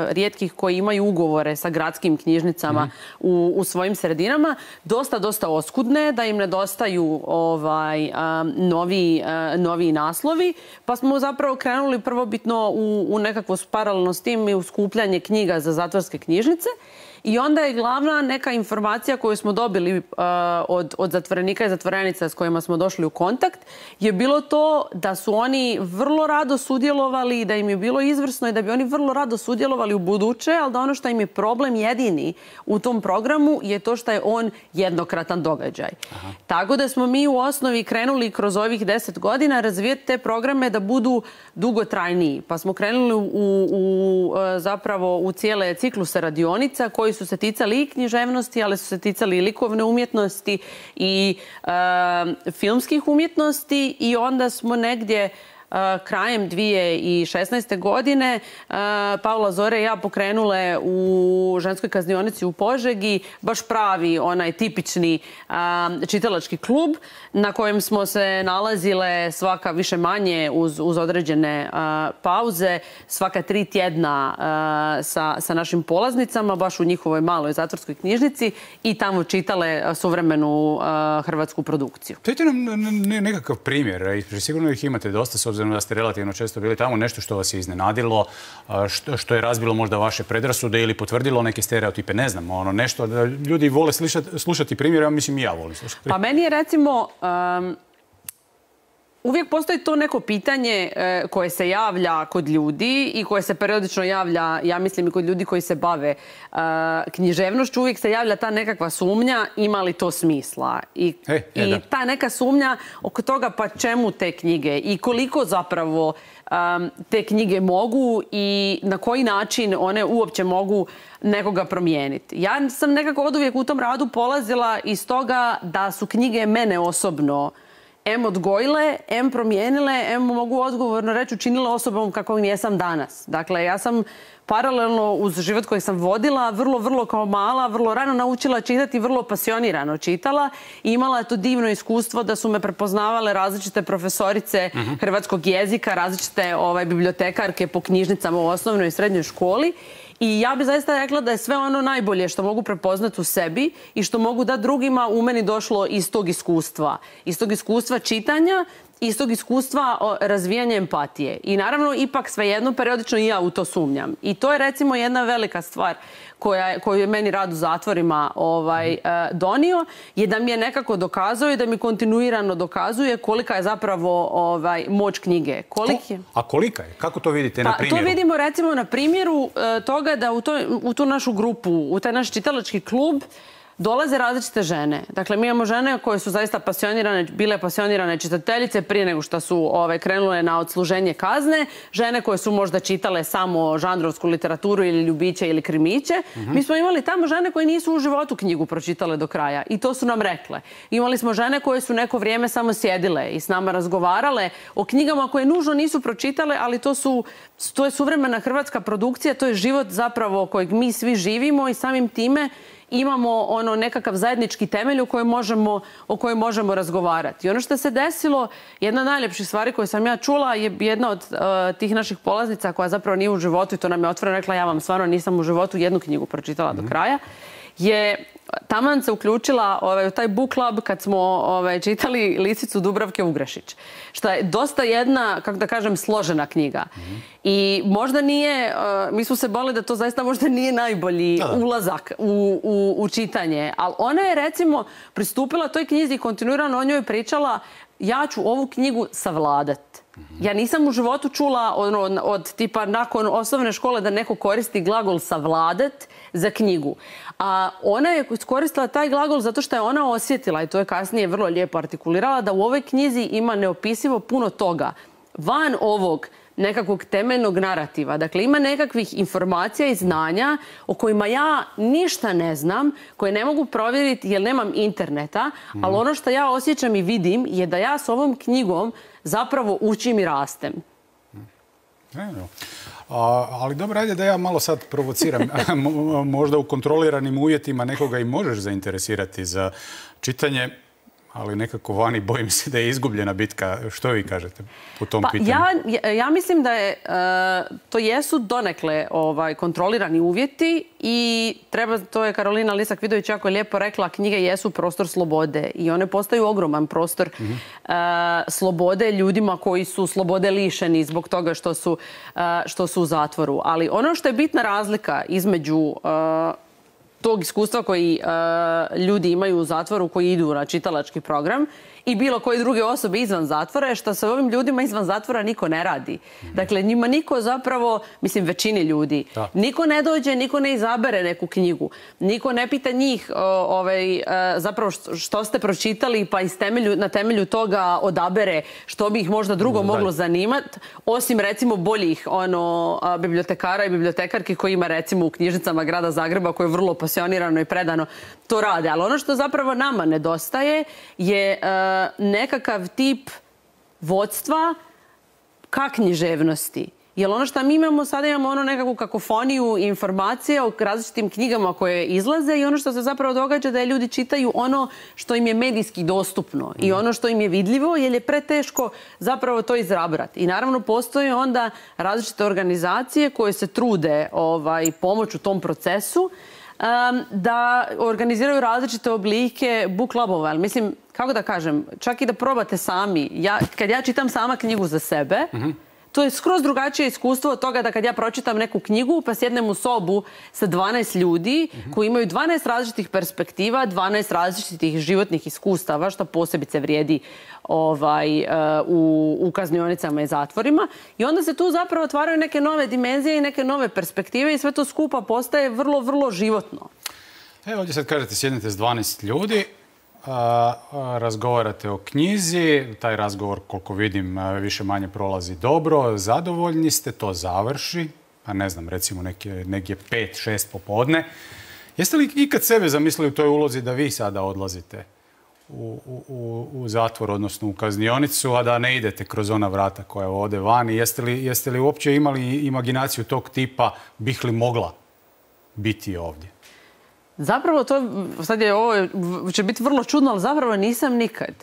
rijetkih koji imaju ugovore sa gradskim knjižnicama u svojim sredinama, dosta oskudne, da im nedostaju novi naslovi. Pa smo zapravo krenuli prvobitno u nekakvo paralelno s tim i u skupljanje knjiga za zatvorske knjižnice. I onda je glavna neka informacija koju smo dobili od zatvorenika i zatvorenica s kojima smo došli u kontakt je bilo to da su oni vrlo rado sudjelovali, da im je bilo izvrsno i da bi oni vrlo rado sudjelovali u buduće, ali da ono što im je problem jedini u tom programu je to što je on jednokratan događaj. Tako da smo mi u osnovi krenuli kroz ovih 10 godina razvijeti te programe da budu dugotrajniji. Pa smo krenuli zapravo u cijele cikluse radionica koji su se ticali i književnosti, ali su se ticali i likovne umjetnosti i filmskih umjetnosti i onda smo negdje krajem 2016. godine Paula Zore i ja pokrenule u ženskoj kaznionici u Požegi baš pravi onaj tipični čitalački klub na kojem smo se nalazile svaka više manje uz određene pauze, svaka 3 tjedna sa našim polaznicama baš u njihovoj maloj zatvorskoj knjižnici i tamo čitale suvremenu hrvatsku produkciju. Dajte nam nekakav primjer, sigurno ih imate dosta s obzirom da ste relativno često bili tamo, nešto što vas je iznenadilo, što je razbilo možda vaše predrasude ili potvrdilo neke stereotipe, ne znam, nešto da ljudi vole slušati primjer, ja mislim i ja volim slušati. Pa meni je recimo, uvijek postoji to neko pitanje koje se javlja kod ljudi i koje se periodično javlja, ja mislim, i kod ljudi koji se bave književnošću. Uvijek se javlja ta nekakva sumnja ima li to smisla. I ta neka sumnja oko toga pa čemu te knjige i koliko zapravo te knjige mogu i na koji način one uopće mogu nekoga promijeniti. Ja sam nekako oduvijek u tom radu polazila iz toga da su knjige mene osobno em odgojile, em promijenile, em mogu odgovorno reći učinile osobom kakvom jesam danas. Dakle, ja sam paralelno uz život koji sam vodila, vrlo kao mala, vrlo rano naučila čitati, vrlo pasionirano čitala i imala to divno iskustvo da su me prepoznavale različite profesorice hrvatskog jezika, različite bibliotekarke po knjižnicama u osnovnoj i srednjoj školi. I ja bih zaista rekla da je sve ono najbolje što mogu prepoznati u sebi i što mogu dati drugima u meni došlo iz tog iskustva. Iz tog iskustva čitanja, iz tog iskustva razvijanja empatije. I naravno, ipak svejedno, periodično i ja u to sumnjam. I to je recimo jedna velika stvar koju je meni rad u zatvorima donio, je da mi je nekako dokazao i da mi kontinuirano dokazuje kolika je zapravo moć knjige. A kolika je? Kako to vidite na primjeru? To vidimo recimo na primjeru toga da u tu našu grupu, u taj naš čitalački klub, dolaze različite žene. Dakle, mi imamo žene koje su zaista bile pasionirane čitateljice prije nego što su krenule na odsluženje kazne. Žene koje su možda čitale samo žanrovsku literaturu ili ljubiće ili krimiće. Mi smo imali tamo žene koje nisu u životu knjigu pročitale do kraja. I to su nam rekle. Imali smo žene koje su neko vrijeme samo sjedile i s nama razgovarale o knjigama koje nužno nisu pročitale, ali to je suvremena hrvatska produkcija, to je život zapravo kojeg mi svi živimo i samim time imamo nekakav zajednički temelj o kojem možemo razgovarati. I ono što se desilo, jedna od najljepših stvari koje sam ja čula je jedna od tih naših polaznica koja zapravo nije u životu i to nam je otvoreno rekla, ja vam stvarno nisam u životu jednu knjigu pročitala do kraja, je taman se uključila u taj book club kad smo čitali Lisicu Dubravke Ugrešić. Što je dosta jedna, kako da kažem, složena knjiga. I možda nije, mi smo se boli da to zaista možda nije najbolji ulazak u čitanje. Ali ona je, recimo, pristupila toj knjizi i kontinuirano o njoj pričala: ja ću ovu knjigu savladat. Ja nisam u životu čula od tipa nakon osnovne škole da neko koristi glagol savladat za knjigu. A ona je koristila taj glagol zato što je ona osjetila, i to je kasnije vrlo lijepo artikulirala, da u ovoj knjizi ima neopisivo puno toga van ovog nekakvog temeljnog narativa. Dakle, ima nekakvih informacija i znanja o kojima ja ništa ne znam, koje ne mogu provjeriti jer nemam interneta, ali ono što ja osjećam i vidim je da ja s ovom knjigom zapravo učim i rastem. Ali dobro, ajde da ja malo sad provociram. Možda u kontroliranim uvjetima nekoga i možeš zainteresirati za čitanje, ali nekako vani bojim se da je izgubljena bitka. Što vi kažete po tom pitanju? Ja mislim da je, to jesu donekle kontrolirani uvjeti i to je Karolina Lisak-Vidović jako lijepo rekla, knjige jesu prostor slobode i one postaju ogroman prostor slobode ljudima koji su slobode lišeni zbog toga što su u zatvoru. Ali ono što je bitna razlika između tog iskustva koji ljudi imaju u zatvoru, koji idu na čitalački program i bilo koje druge osobe izvan zatvora, je što sa ovim ljudima izvan zatvora niko ne radi. Dakle, njima niko zapravo, mislim većini ljudi, niko ne dođe, niko ne izabere neku knjigu. Niko ne pita njih zapravo što ste pročitali pa na temelju toga odabere što bi ih možda drugo moglo zanimati, osim recimo boljih bibliotekara i bibliotekarki koji ima recimo u knjižnicama grada Zagreba koje vrlo pasionirano i predano to rade. Ali ono što zapravo nama nedostaje je nekakav tip vodstva ka književnosti. Jer ono što mi imamo, sada imamo nekakvu kakofoniju informacije o različitim knjigama koje izlaze i ono što se zapravo događa da je ljudi čitaju ono što im je medijski dostupno i ono što im je vidljivo, jer je preteško zapravo to izrabrati. I naravno postoje onda različite organizacije koje se trude pomoć u tom procesu da organiziraju različite oblike book clubova. Ali mislim, kako da kažem, čak i da probate sami. Kad ja čitam sama knjigu za sebe, to je skroz drugačije iskustvo od toga da kad ja pročitam neku knjigu pa sjednem u sobu sa 12 ljudi koji imaju 12 različitih perspektiva, 12 različitih životnih iskustava, što posebice vrijedi u kaznionicama i zatvorima. I onda se tu zapravo otvaraju neke nove dimenzije i neke nove perspektive i sve to skupa postaje vrlo, vrlo životno. Evo ovdje sad kažete sjednete s 12 ljudi, razgovarate o knjizi, taj razgovor koliko vidim više manje prolazi dobro, zadovoljni ste, to završi, pa ne znam, recimo negdje 5-6 popodne. Jeste li ikad sebe zamislili u toj ulozi da vi sada odlazite u zatvor, odnosno u kaznionicu, a da ne idete kroz ona vrata koja ode van? Jeste li uopće imali imaginaciju tog tipa, bih li mogla biti ovdje? Zapravo to, ovo će biti vrlo čudno, ali zapravo nisam nikad.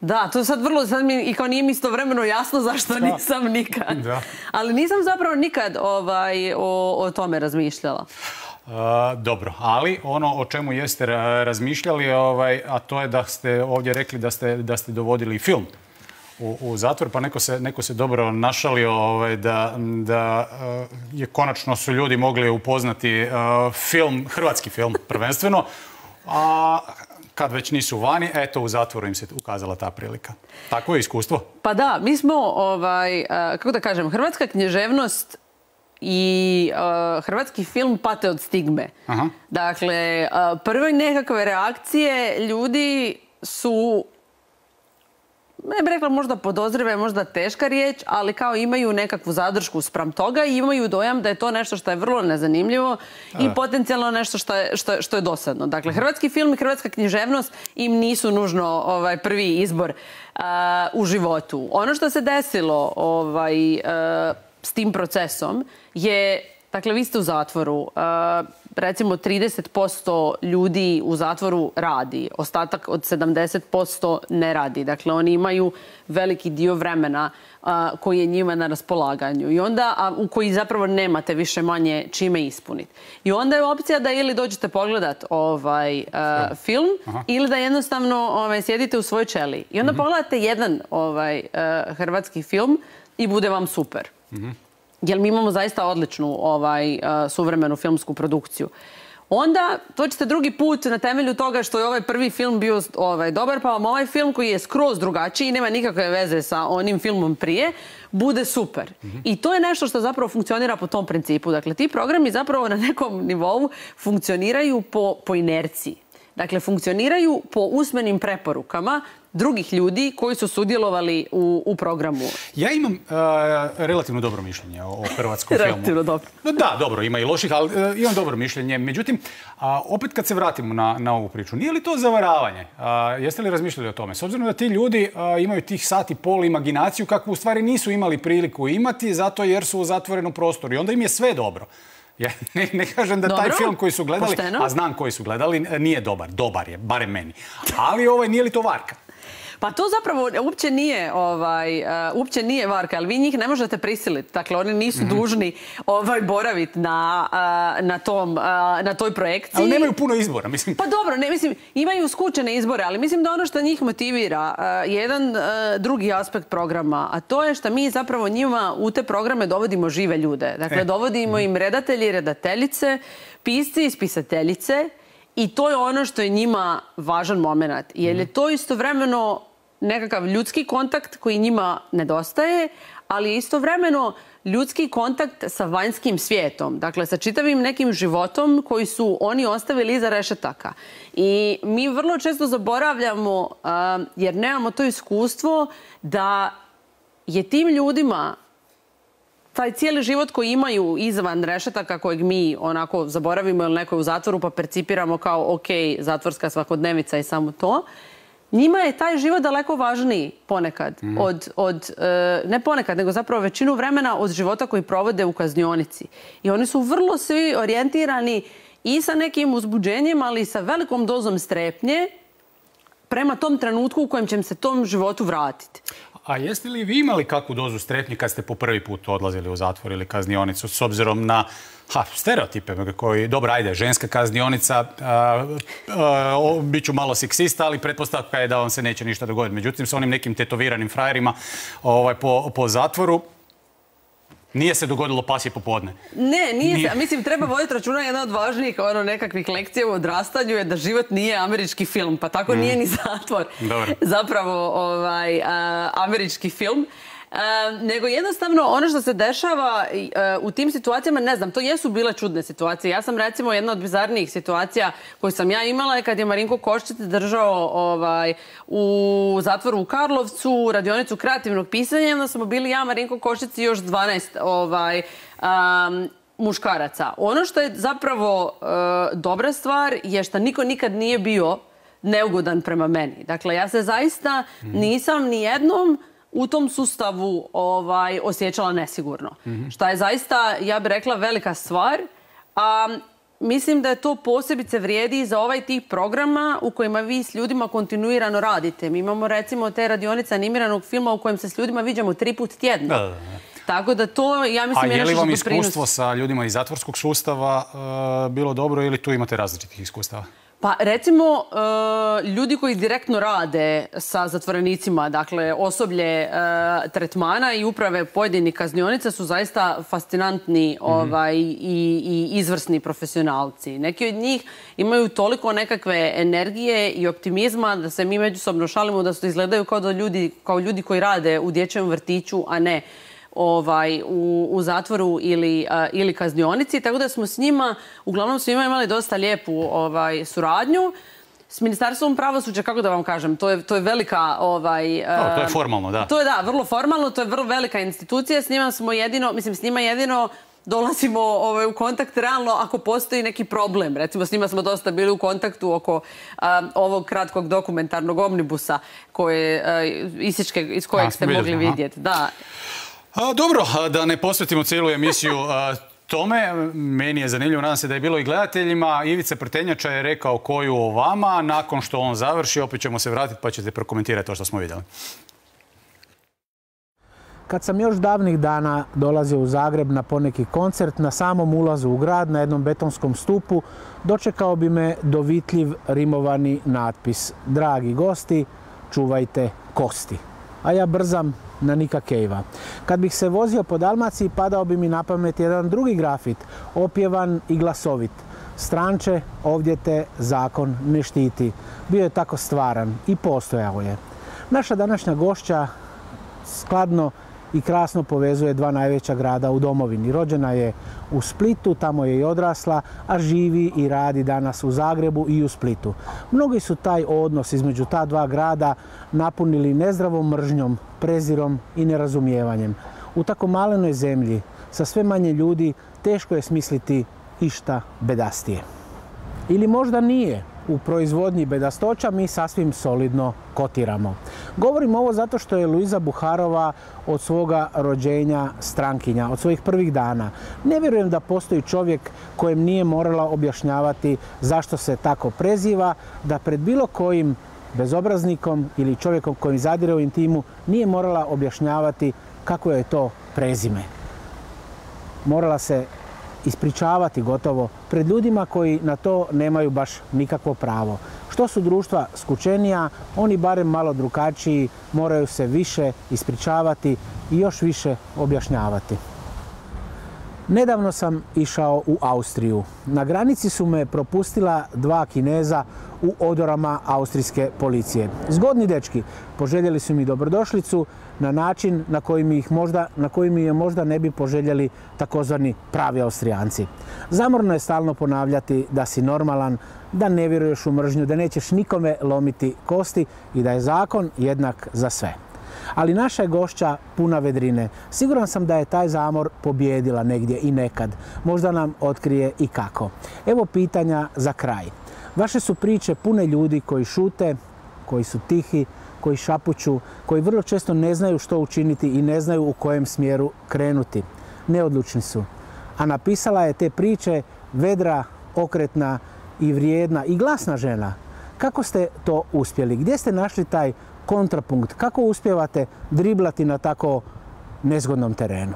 Da, to je sad vrlo, i kao nije mi istovremeno jasno zašto nisam nikad. Ali nisam zapravo nikad o tome razmišljala. Dobro, ali ono o čemu jeste razmišljali, a to je da ste ovdje rekli da ste dovodili film u zatvor, pa neko se dobro našalio da je konačno su ljudi mogli upoznati film, hrvatski film prvenstveno, a kad već nisu vani, eto u zatvoru im se ukazala ta prilika. Tako je iskustvo? Pa da, mi smo, kako da kažem, hrvatska književnost i hrvatski film pate od stigme. Dakle, prve nekakve reakcije ljudi su, ne bih rekla možda podozrive, možda teška riječ, ali kao imaju nekakvu zadršku spram toga i imaju dojam da je to nešto što je vrlo nezanimljivo i potencijalno nešto što je dosadno. Dakle, hrvatski film i hrvatska književnost im nisu nužno prvi izbor u životu. Ono što se desilo s tim procesom je Dakle, vi ste u zatvoru. Recimo 30% ljudi u zatvoru radi. Ostatak od 70% ne radi. Dakle, oni imaju veliki dio vremena koji je njima na raspolaganju. I onda, u koji zapravo nemate više manje čime ispuniti. I onda je opcija da ili dođete pogledat film ili da jednostavno sjedite u svojoj ćeliji. I onda pogledate jedan hrvatski film i bude vam super. Jer mi imamo zaista odličnu suvremenu filmsku produkciju. Onda dođete drugi put na temelju toga što je ovaj prvi film bio dobar, pa vam ovaj film koji je skroz drugačiji i nema nikakve veze sa onim filmom prije, bude super. I to je nešto što zapravo funkcionira po tom principu. Dakle, ti programi zapravo na nekom nivou funkcioniraju po inerciji. Dakle, funkcioniraju po usmenim preporukama drugih ljudi koji su sudjelovali u programu. Ja imam relativno dobro mišljenje o hrvatskom filmu. Relativno dobro. Da, dobro, ima i loših, ali imam dobro mišljenje. Međutim, opet kad se vratimo na ovu priču, nije li to zavaravanje? Jeste li razmišljali o tome? S obzirom da ti ljudi imaju tih sat i pol imaginaciju kakvu u stvari nisu imali priliku imati zato jer su u zatvorenom prostoru i onda im je sve dobro. Ja ne kažem da taj film koji su gledali, a znam koji su gledali, nije dobar. Dobar je, barem meni. Ali nije li to varka? Pa to zapravo uopće nije varka, ali vi njih ne možete prisiliti. Dakle, oni nisu dužni boraviti na toj projekciji. Ali nemaju puno izbora, mislim. Pa dobro, imaju skučene izbore, ali mislim da ono što njih motivira je jedan drugi aspekt programa, a to je što mi zapravo njima u te programe dovodimo žive ljude. Dakle, dovodimo im redatelji i redateljice, pisci i spisateljice, i to je ono što je njima važan moment. Jer je to istovremeno nekakav ljudski kontakt koji njima nedostaje, ali je istovremeno ljudski kontakt sa vanjskim svijetom. Dakle, sa čitavim nekim životom koji su oni ostavili iza rešetaka. I mi vrlo često zaboravljamo, jer nemamo to iskustvo, da je tim ljudima taj cijeli život koji imaju izvan rešetaka kojeg mi onako zaboravimo ili neko je u zatvoru pa percipiramo kao ok, zatvorska svakodnevica i samo to, njima je taj život daleko važniji ponekad ne ponekad, nego zapravo većinu vremena od života koji provode u kaznionici. I oni su vrlo svi orijentirani i sa nekim uzbuđenjem, ali i sa velikom dozom strepnje prema tom trenutku u kojem će se tom životu vratiti. A jeste li vi imali kakvu dozu strepnje kad ste po prvi put odlazili u zatvor ili kaznionicu s obzirom na stereotipe koji, dobro, ajde, ženska kaznionica, bit ću malo seksista, ali pretpostavka je da vam se neće ništa dogoditi. Međutim, s onim nekim tetoviranim frajerima po zatvoru, nije se dogodilo pasje popodne. Ne, nije se. Mislim, treba voditi računa, jedna od važnijih nekakvih lekcija u odrastanju je da život nije američki film, pa tako nije ni zatvor. Zapravo američki film. Nego jednostavno ono što se dešava u tim situacijama, ne znam, to jesu bile čudne situacije. Ja sam recimo jedna od bizarnijih situacija koju sam ja imala je kad je Marinko Koščić držao u zatvoru u Karlovcu radionicu kreativnog pisanja. Onda smo bili ja, Marinko Koščić i još 12 muškaraca. Ono što je zapravo dobra stvar je što niko nikad nije bio neugodan prema meni. Dakle, ja se zaista nisam ni jednom u tom sustavu osjećala nesigurno. Što je zaista, ja bih rekla, velika stvar. Mislim da je to posebice vrijedi za ovaj tip programa u kojima vi s ljudima kontinuirano radite. Mi imamo recimo te radionice animiranog filma u kojem se s ljudima viđamo 3 puta tjedno. Tako da to, ja mislim, je nešto što doprinosi. A je li vam iskustvo sa ljudima iz zatvorskog sustava bilo dobro ili tu imate različitih iskustava? Pa recimo, ljudi koji direktno rade sa zatvorenicima, dakle osoblje tretmana i uprave pojedinih kaznionica su zaista fascinantni i izvrsni profesionalci. Neki od njih imaju toliko nekakve energije i optimizma da se mi međusobno šalimo da su izgledaju kao ljudi koji rade u dječjem vrtiću, a ne u zatvoru ili kaznionici, tako da smo s njima, uglavnom s njima imali dosta lijepu suradnju. S Ministarstvom pravosuđa, kako da vam kažem, to je velika... To je formalno, da. To je, da, vrlo formalno, to je vrlo velika institucija. S njima smo jedino, mislim, s njima jedino dolazimo u kontakt realno ako postoji neki problem. Recimo, s njima smo dosta bili u kontaktu oko ovog kratkog dokumentarnog omnibusa iz kojeg ste mogli vidjeti. Da. Dobro, da ne posvetimo cijelu emisiju tome. Meni je zanimljivo, nadam se da je bilo i gledateljima. Ivica Prtenjača je rekao koju o vama. Nakon što on završi, opet ćemo se vratiti pa ćete prokomentirati to što smo vidjeli. Kad sam još davnih dana dolazio u Zagreb na poneki koncert, na samom ulazu u grad, na jednom betonskom stupu, dočekao bi me dovitljiv rimovani natpis: dragi gosti, čuvajte kosti. A ja brzam na Nika Cavea. Kad bih se vozio po Dalmaciji, padao bi mi na pamet jedan drugi grafit, opjevan i glasovit: stranče, ovdje te zakon ne štiti. Bio je tako stvaran i postojao je. Naša današnja gošća skladno i krasno povezuje dva najveća grada u domovini. Rođena je u Splitu, tamo je i odrasla, a živi i radi danas u Zagrebu i u Splitu. Mnogi su taj odnos između ta dva grada napunili nezdravom mržnjom, prezirom i nerazumijevanjem. U tako malenoj zemlji, sa sve manje ljudi, teško je smisliti išta bedastije. Ili možda nije. U proizvodnji bedastoća mi sasvim solidno kotiramo. Govorim ovo zato što je Luiza Buharova od svoga rođenja strankinja, od svojih prvih dana. Ne vjerujem da postoji čovjek kojem nije morala objašnjavati zašto se tako preziva, da pred bilo kojim bezobraznikom ili čovjekom kojim zadire u intimu nije morala objašnjavati kako je to prezime. Morala se ispričavati gotovo pred ljudima koji na to nemaju baš nikakvo pravo. Što su društva skučenija, oni barem malo drugačiji moraju se više ispričavati i još više objašnjavati. Nedavno sam išao u Austriju. Na granici su me propustila dva Kineza u odorama austrijske policije. Zgodni dečki, poželjeli su mi dobrodošlicu na način na koji mi je možda ne bi poželjeli takozvani pravi Austrijanci. Zamorno je stalno ponavljati da si normalan, da ne vjeruješ u mržnju, da nećeš nikome lomiti kosti i da je zakon jednak za sve. Ali naša je gošća puna vedrine. Siguran sam da je taj zamor pobijedila negdje i nekad. Možda nam otkrije i kako. Evo pitanja za kraj. Vaše su priče pune ljudi koji šute, koji su tihi, koji šapuću, koji vrlo često ne znaju što učiniti i ne znaju u kojem smjeru krenuti. Neodlučni su. A napisala je te priče vedra, okretna i vrijedna i glasna žena. Kako ste to uspjeli? Gdje ste našli taj kontrapunkt? Kako uspijevate driblati na tako nezgodnom terenu?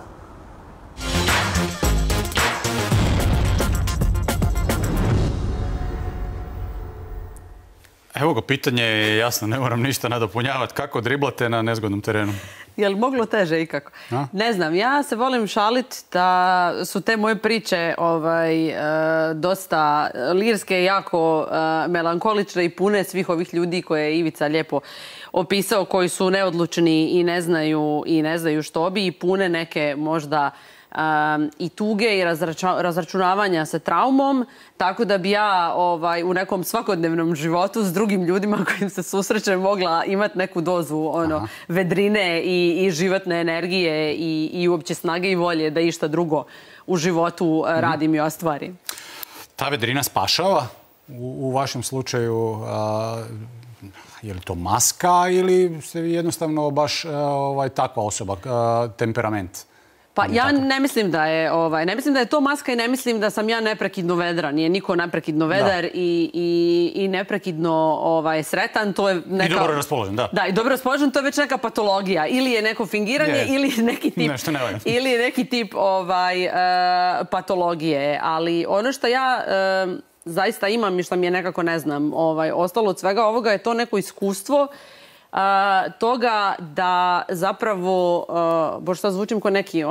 Evo ga, pitanje je jasno, ne moram ništa nadopunjavati. Kako driblate na nezgodnom terenu? Je li moglo teže ikako? Ne znam, ja se volim šaliti da su te moje priče dosta lirske, jako melankolične i pune svih ovih ljudi koje je Ivica lijepo opisao, koji su neodlučni i ne znaju što bi, i pune neke možda i tuge i razračunavanja sa traumom, tako da bi ja u nekom svakodnevnom životu s drugim ljudima kojim se susrećem mogla imati neku dozu vedrine i životne energije i uopće snage i volje da išta drugo u životu radim i ostvarim. Ta vedrina spašava u vašem slučaju? Je li to maska ili ste jednostavno baš takva osoba, temperament? Pa ja ne mislim da je to maska i ne mislim da sam ja neprekidno vedra. Nije niko neprekidno vedar i neprekidno sretan. To je neka... I dobro raspoložen, da. Da, i dobro raspoložen, to je već neka patologija. Ili je neko fingiranje ili je neki tip patologije. Ali ono što ja zaista imam i što mi je nekako, ne znam, ostalo od svega ovoga je to neko iskustvo toga da zapravo, bož sad zvučim kao neki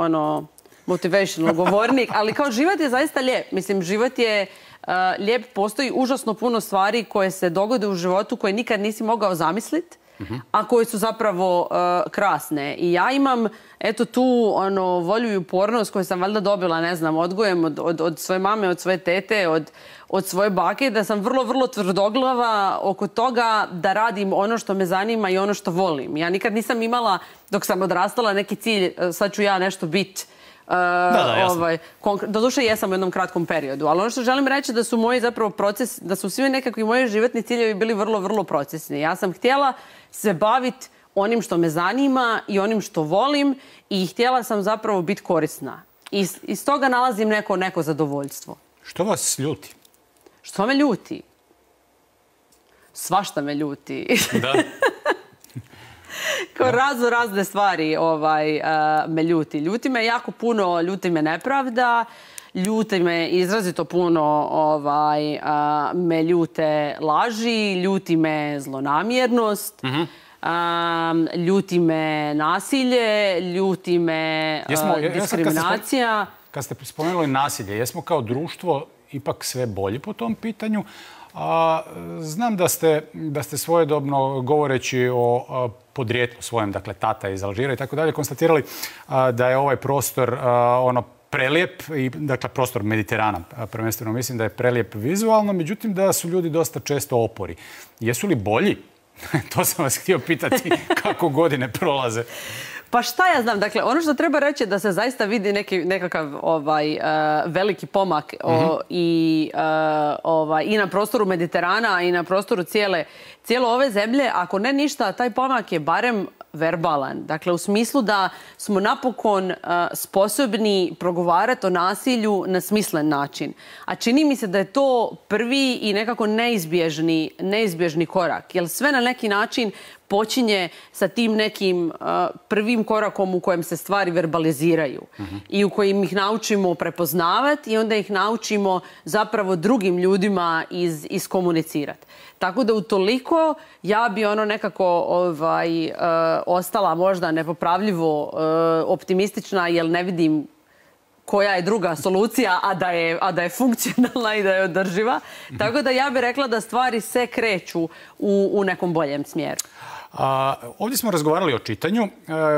motivational govornik, ali kao život je zaista lijep. Mislim, život je lijep, postoji užasno puno stvari koje se dogode u životu koje nikad nisi mogao zamisliti, a koje su zapravo krasne. I ja imam tu volju i upornost koju sam valjda dobila, ne znam, odgojem od svoje mame, od svoje tete, od svoje bake, da sam vrlo, vrlo tvrdoglava oko toga da radim ono što me zanima i ono što volim. Ja nikad nisam imala, dok sam odrastala, neki cilj, sad ću ja nešto biti. Doduše jesam u jednom kratkom periodu, ali ono što želim reći da su moji zapravo proces, da su svi nekakvi moji životni ciljevi bili vrlo, vrlo procesni. Ja sam htjela se baviti onim što me zanima i onim što volim i htjela sam zapravo biti korisna. iz toga nalazim neko zadovoljstvo. Što vas ljuti? Što me ljuti? Svašta me ljuti. Da. Kao razne stvari me ljuti. Ljuti me jako puno, ljuti me nepravda, ljuti me izrazito puno, me ljute laži, ljuti me zlonamjernost, ljuti me nasilje, ljuti me diskriminacija. Kad ste spomenuli nasilje, jesmo kao društvo ipak sve bolji po tom pitanju? Znam da ste svojedobno, govoreći o podrijetlu svojem, dakle tata iz Alžira i tako dalje, konstatirali da je ovaj prostor prelijep, dakle prostor Mediterana prvenstveno mislim da je prelijep vizualno, međutim da su ljudi dosta često opori. Jesu li bolji? To sam vas htio pitati kako godine prolaze. Pa šta ja znam, dakle, ono što treba reći je da se zaista vidi nekakav veliki pomak i na prostoru Mediterana i na prostoru cijele ove zemlje. Ako ne ništa, taj pomak je barem verbalan. Dakle, u smislu da smo napokon sposobni progovarati o nasilju na smislen način. A čini mi se da je to prvi i nekako neizbježni korak. Jer sve na neki način počinje sa tim nekim prvim korakom u kojem se stvari verbaliziraju i u kojim ih naučimo prepoznavati i onda ih naučimo zapravo drugim ljudima iskomunicirati. Tako da utoliko ja bi nekako ostala možda nepopravljivo optimistična jer ne vidim koja je druga solucija, a da je funkcionalna i da je održiva. Tako da ja bih rekla da stvari se kreću u nekom boljem smjeru. Ovdje smo razgovarali o čitanju.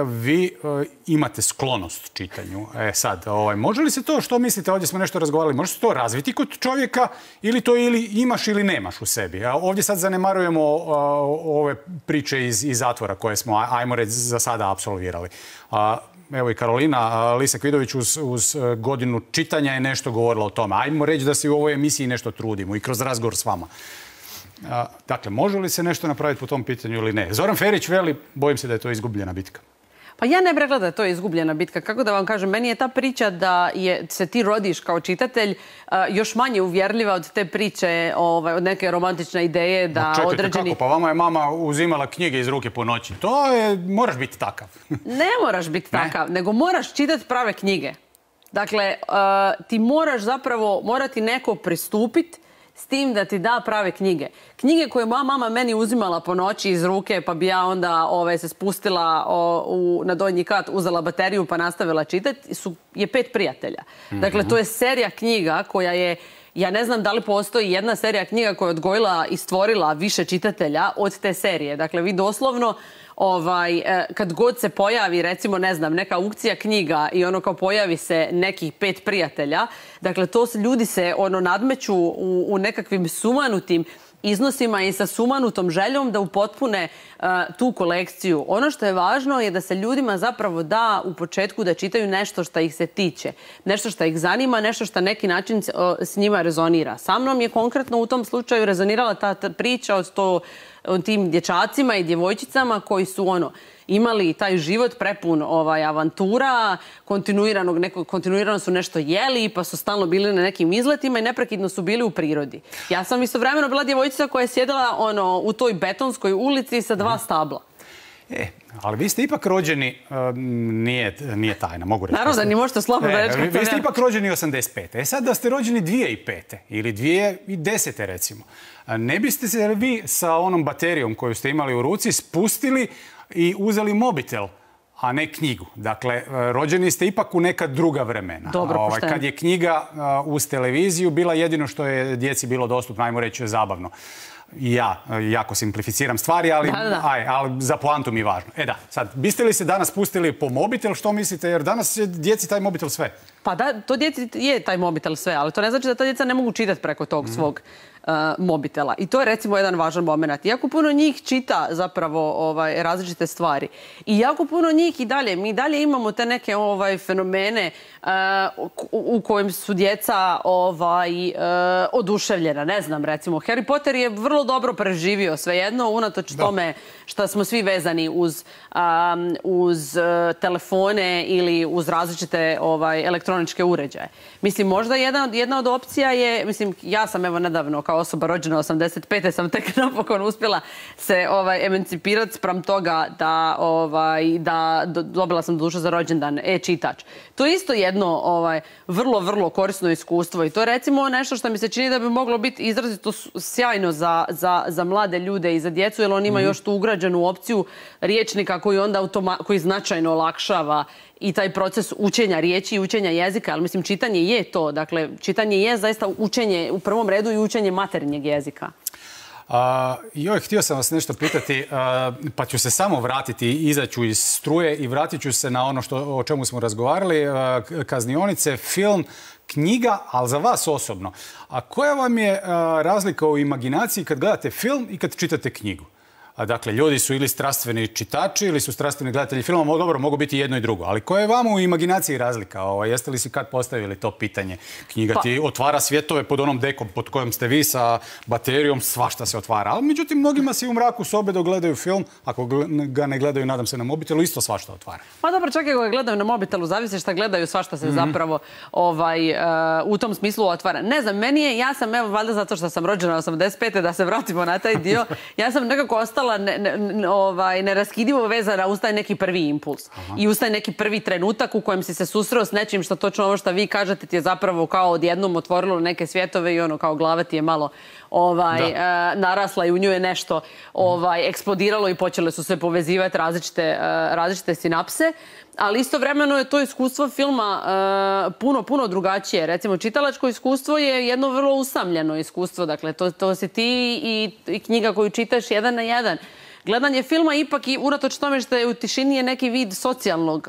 Vi imate sklonost čitanju. Sad, može li se to, što mislite, ovdje smo nešto razgovarali, može se to razviti kod čovjeka ili to ili imaš ili nemaš u sebi? Ovdje sad zanemarujemo ove priče iz zatvora koje smo, ajmo reći, za sada apsolvirali. Evo i Karolina Lisak-Vidović uz godinu čitanja je nešto govorila o tome. Ajmo reći da se u ovoj emisiji nešto trudimo i kroz razgovor s vama. Dakle, može li se nešto napraviti po tom pitanju ili ne? Zoran Ferić veli, bojim se da je to izgubljena bitka. Pa ja ne bih rekla da je to izgubljena bitka. Kako da vam kažem, meni je ta priča da se ti rodiš kao čitatelj još manje uvjerljiva od te priče, od neke romantične ideje da određeni... Čekajte, kako? Pa vama je mama uzimala knjige iz ruke po noći. To je, moraš biti takav. Ne moraš biti takav, nego moraš čitati prave knjige. Dakle, ti moraš zapravo, mora ti neko pristupiti s tim da ti da prave knjige. Knjige koje moja mama meni uzimala po noći iz ruke, pa bi ja onda se spustila na donji kat, uzela bateriju pa nastavila čitati, je 5 prijatelja. Dakle, to je serija knjiga koja je, ja ne znam da li postoji jedna serija knjiga koja je odgojila i stvorila više čitatelja od te serije. Dakle, vi doslovno kad god se pojavi, recimo, ne znam, neka aukcija knjiga i kao pojavi se nekih 5 prijatelja, dakle, ljudi se nadmeću u nekakvim sumanutim iznosima i sa sumanutom željom da upotpune tu kolekciju. Ono što je važno je da se ljudima zapravo da u početku da čitaju nešto što ih se tiče, nešto što ih zanima, nešto što na neki način s njima rezonira. Sa mnom je konkretno u tom slučaju rezonirala ta priča o tim dječacima i djevojčicama koji su imali taj život prepun avantura, kontinuirano su nešto jeli, pa su stalno bili na nekim izletima i neprekidno su bili u prirodi. Ja sam istovremeno bila djevojčica koja je sjedila u toj betonskoj ulici sa 2 stabla. Ali vi ste ipak rođeni, nije tajna, mogu reći. Naravno da ni možete slobodno reći. Vi ste ipak rođeni 85. Sad da ste rođeni 2005. ili 2010. recimo, ne biste se vi sa onom baterijom koju ste imali u ruci spustili i uzeli mobitel, a ne knjigu. Dakle, rođeni ste ipak u neka druga vremena. Dobro, pošteno. Kad je knjiga uz televiziju bila jedino što je djeci bilo dostupno, ajmo reći, zabavno. Ja jako simplificiram stvari, ali za poantu mi je važno. Sad, biste li se danas spustili po mobitel, što mislite? Jer danas je djeci taj mobitel sve. Pa da, to djeci je taj mobitel sve, ali to ne znači da ta djeca ne mogu čitati preko tog svog mobitela. I to je recimo jedan važan moment. Jako puno njih čita zapravo različite stvari. I jako puno njih mi dalje imamo te neke fenomene u kojim su djeca oduševljena. Ne znam, recimo, Harry Potter je vrlo dobro preživio svejedno, unatoč tome što smo svi vezani uz telefone ili uz različite elektroničke uređaje. Mislim, možda jedna od opcija je, mislim, ja sam evo nedavno kao osoba rođena 85. sam tek napokon uspjela se emancipirati sprem toga da dobila sam dušu za rođendan e-čitač. To je isto jedno vrlo, vrlo korisno iskustvo i to je recimo nešto što mi se čini da bi moglo biti izrazito sjajno za mlade ljude i za djecu, jer on ima još tu ugrađenu opciju riječnika koji značajno olakšava i taj proces učenja riječi i učenja jezika, ali mislim čitanje je to. Dakle, čitanje je zaista učenje u prvom redu i učenje materinjeg jezika. Htio sam vas nešto pitati, pa ću se samo vratiti, izaću iz struje i vratit ću se na ono o čemu smo razgovarali, kaznionice, film, knjiga, ali za vas osobno. A koja vam je razlika u imaginaciji kad gledate film i kad čitate knjigu? Dakle, ljudi su ili strastveni čitači ili su strastveni gledatelji filma, dobro, mogu biti jedno i drugo. Ali koja je vama u imaginaciji razlika? Jeste li si kad postavili to pitanje? Knjiga ti otvara svjetove pod onom dekom pod kojom ste vi sa baterijom, svašta se otvara. Ali međutim, mnogima se u mraku sobe dok gledaju film, ako ga ne gledaju, nadam se, na mobitelu, isto svašta otvara. Pa dobro, čak i ako ga gledaju na mobitelu, zavisi šta gledaju, svašta se zapravo u tom smislu otvara. Ne znam, ja sam, evo, valjda zato što sam rođena 85. da se vratimo na taj dio, ja sam nekako ostala neraskidivo vezana uz taj neki prvi impuls. I uz taj neki prvi trenutak u kojem si se susreo s nečim što točno ovo što vi kažete ti je zapravo kao odjednom otvorilo neke svjetove i kao glava ti je malo narasla i u nju je nešto eksplodiralo i počele su se povezivati različite sinapse. Ali istovremeno je to iskustvo filma puno drugačije. Recimo, čitalačko iskustvo je jedno vrlo usamljeno iskustvo. Dakle, to si ti i knjiga koju čitaš jedan na jedan. Gledanje filma ipak i unatoč tome što je u tišini je neki vid socijalnog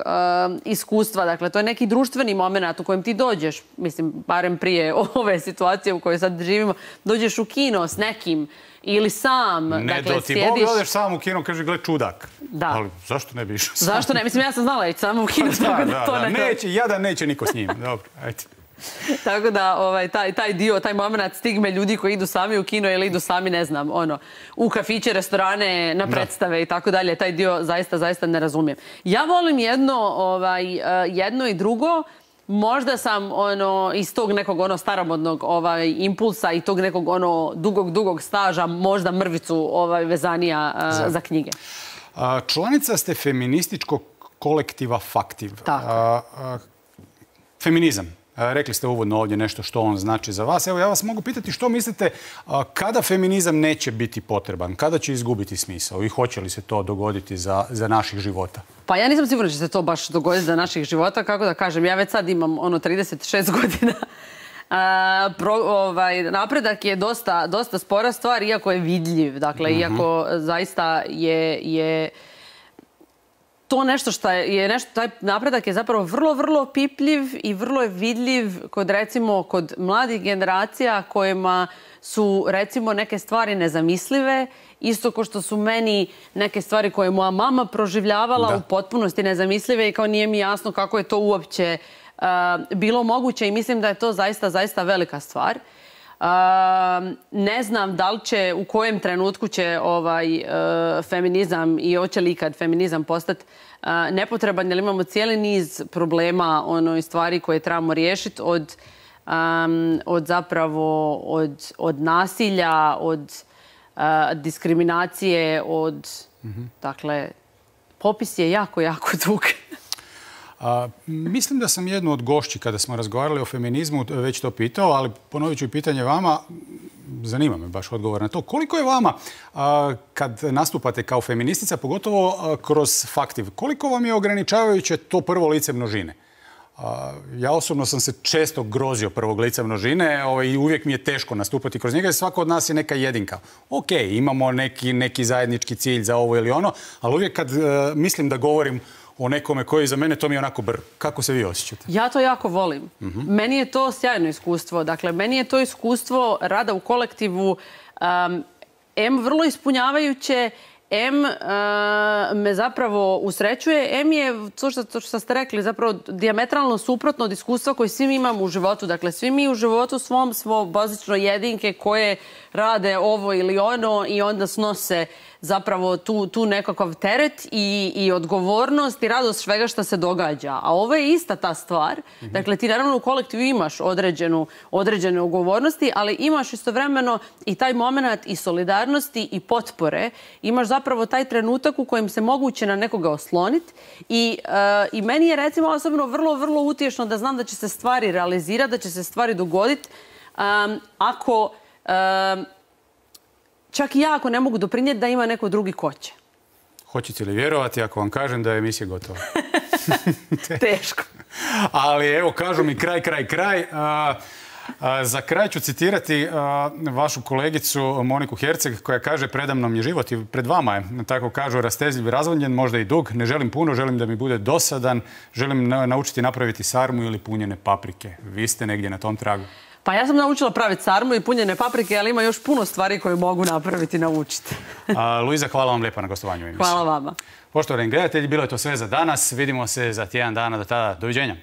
iskustva. Dakle, to je neki društveni moment u kojem ti dođeš, mislim, barem prije ove situacije u kojoj sad živimo, dođeš u kino s nekim ili sam. Ne, dakle, ti Bog odeš sam u kino, kaže, gled čudak. Da. Ali zašto ne bi išao sam? Zašto ne? Mislim, ja sam znala ići samo u kino, tako da to ne... Jadan neće niko s njim. Dobro, ajde. Tako da taj dio, taj moment stigme ljudi koji idu sami u kino ili idu sami, ne znam, u kafiće, restorane, na predstave i tako dalje, taj dio zaista ne razumijem. Ja volim jedno i drugo. Možda sam iz tog nekog staromodnog impulsa i tog nekog dugog staža možda mrvicu vezanija za knjige. Članica ste feminističkog kolektiva Faktiv. Feminizam. Rekli ste uvodno ovdje nešto što on znači za vas. Evo, ja vas mogu pitati što mislite kada feminizam neće biti potreban, kada će izgubiti smisao i hoće li se to dogoditi za naših života? Pa ja nisam sigurna da će se to baš dogoditi za naših života. Kako da kažem, ja već sad imam 36 godina. Napredak je dosta spora stvar, iako je vidljiv. Dakle, iako zaista je to nešto što je, taj napredak je zapravo vrlo, vrlo opipljiv i vrlo je vidljiv kod mladih generacija kojima su recimo neke stvari nezamislive, isto kao što su meni neke stvari koje je moja mama proživljavala u potpunosti nezamislive i kao nije mi jasno kako je to uopće bilo moguće i mislim da je to zaista velika stvar. Ne znam da li će, u kojem trenutku će feminizam i hoće li ikad feminizam postati nepotreban, jer imamo cijeli niz problema i stvari koje trebamo riješiti od nasilja, od diskriminacije, dakle, popis je jako dug. Mislim da sam jednu od gošći kada smo razgovarali o feminizmu već to pitao, ali ponovit ću i pitanje vama, zanima me baš odgovor na to. Koliko je vama, kad nastupate kao feministica, pogotovo kroz Faktiv, koliko vam je ograničavajuće to prvo lice množine? Ja osobno sam se često grozio prvog lica množine i uvijek mi je teško nastupati kroz njega jer svako od nas je neka jedinka. Ok, imamo neki zajednički cilj za ovo ili ono, ali uvijek kad mislim da govorim o nekome koji za mene, to mi je onako Kako se vi osjećate? Ja to jako volim. Meni je to sjajno iskustvo. Dakle, meni je to iskustvo rada u kolektivu vrlo ispunjavajuće, me zapravo usrećuje, je, to što ste rekli, zapravo dijametralno suprotno od iskustva koje svi mi imamo u životu. Dakle, svi mi u životu svom smo bazično jedinke koje rade ovo ili ono i onda snose zapravo tu nekakav teret i odgovornost i radost svega što se događa. A ovo je ista ta stvar. Dakle, ti naravno u kolektivu imaš određene odgovornosti, ali imaš istovremeno i taj moment i solidarnosti i potpore. Imaš zapravo taj trenutak u kojem se moguće na nekoga osloniti i meni je recimo osobno vrlo, vrlo utješno da znam da će se stvari realizirati, da će se stvari dogoditi ako čak i ja ako ne mogu doprinijeti da ima neko drugi ko će. Hoćete li vjerovati ako vam kažem da je emisija gotova? Teško. Ali evo, kažu mi kraj. Za kraj ću citirati vašu kolegicu Moniku Herceg koja kaže: predamnom je život i pred vama je, tako kažu, rastezljiv, razvodnjen, možda i dug. Ne želim puno, želim da mi bude dosadan, želim naučiti napraviti sarmu ili punjene paprike. Vi ste negdje na tom tragu. Pa ja sam naučila praviti sarmu i punjene paprike, ali ima još puno stvari koje mogu napraviti i naučiti. Luiza, hvala vam lijepa na gostovanju u emisiji. Hvala vama. Poštovani gledatelji, bilo je to sve za danas. Vidimo se za tjedan dana. Do tada, doviđenja.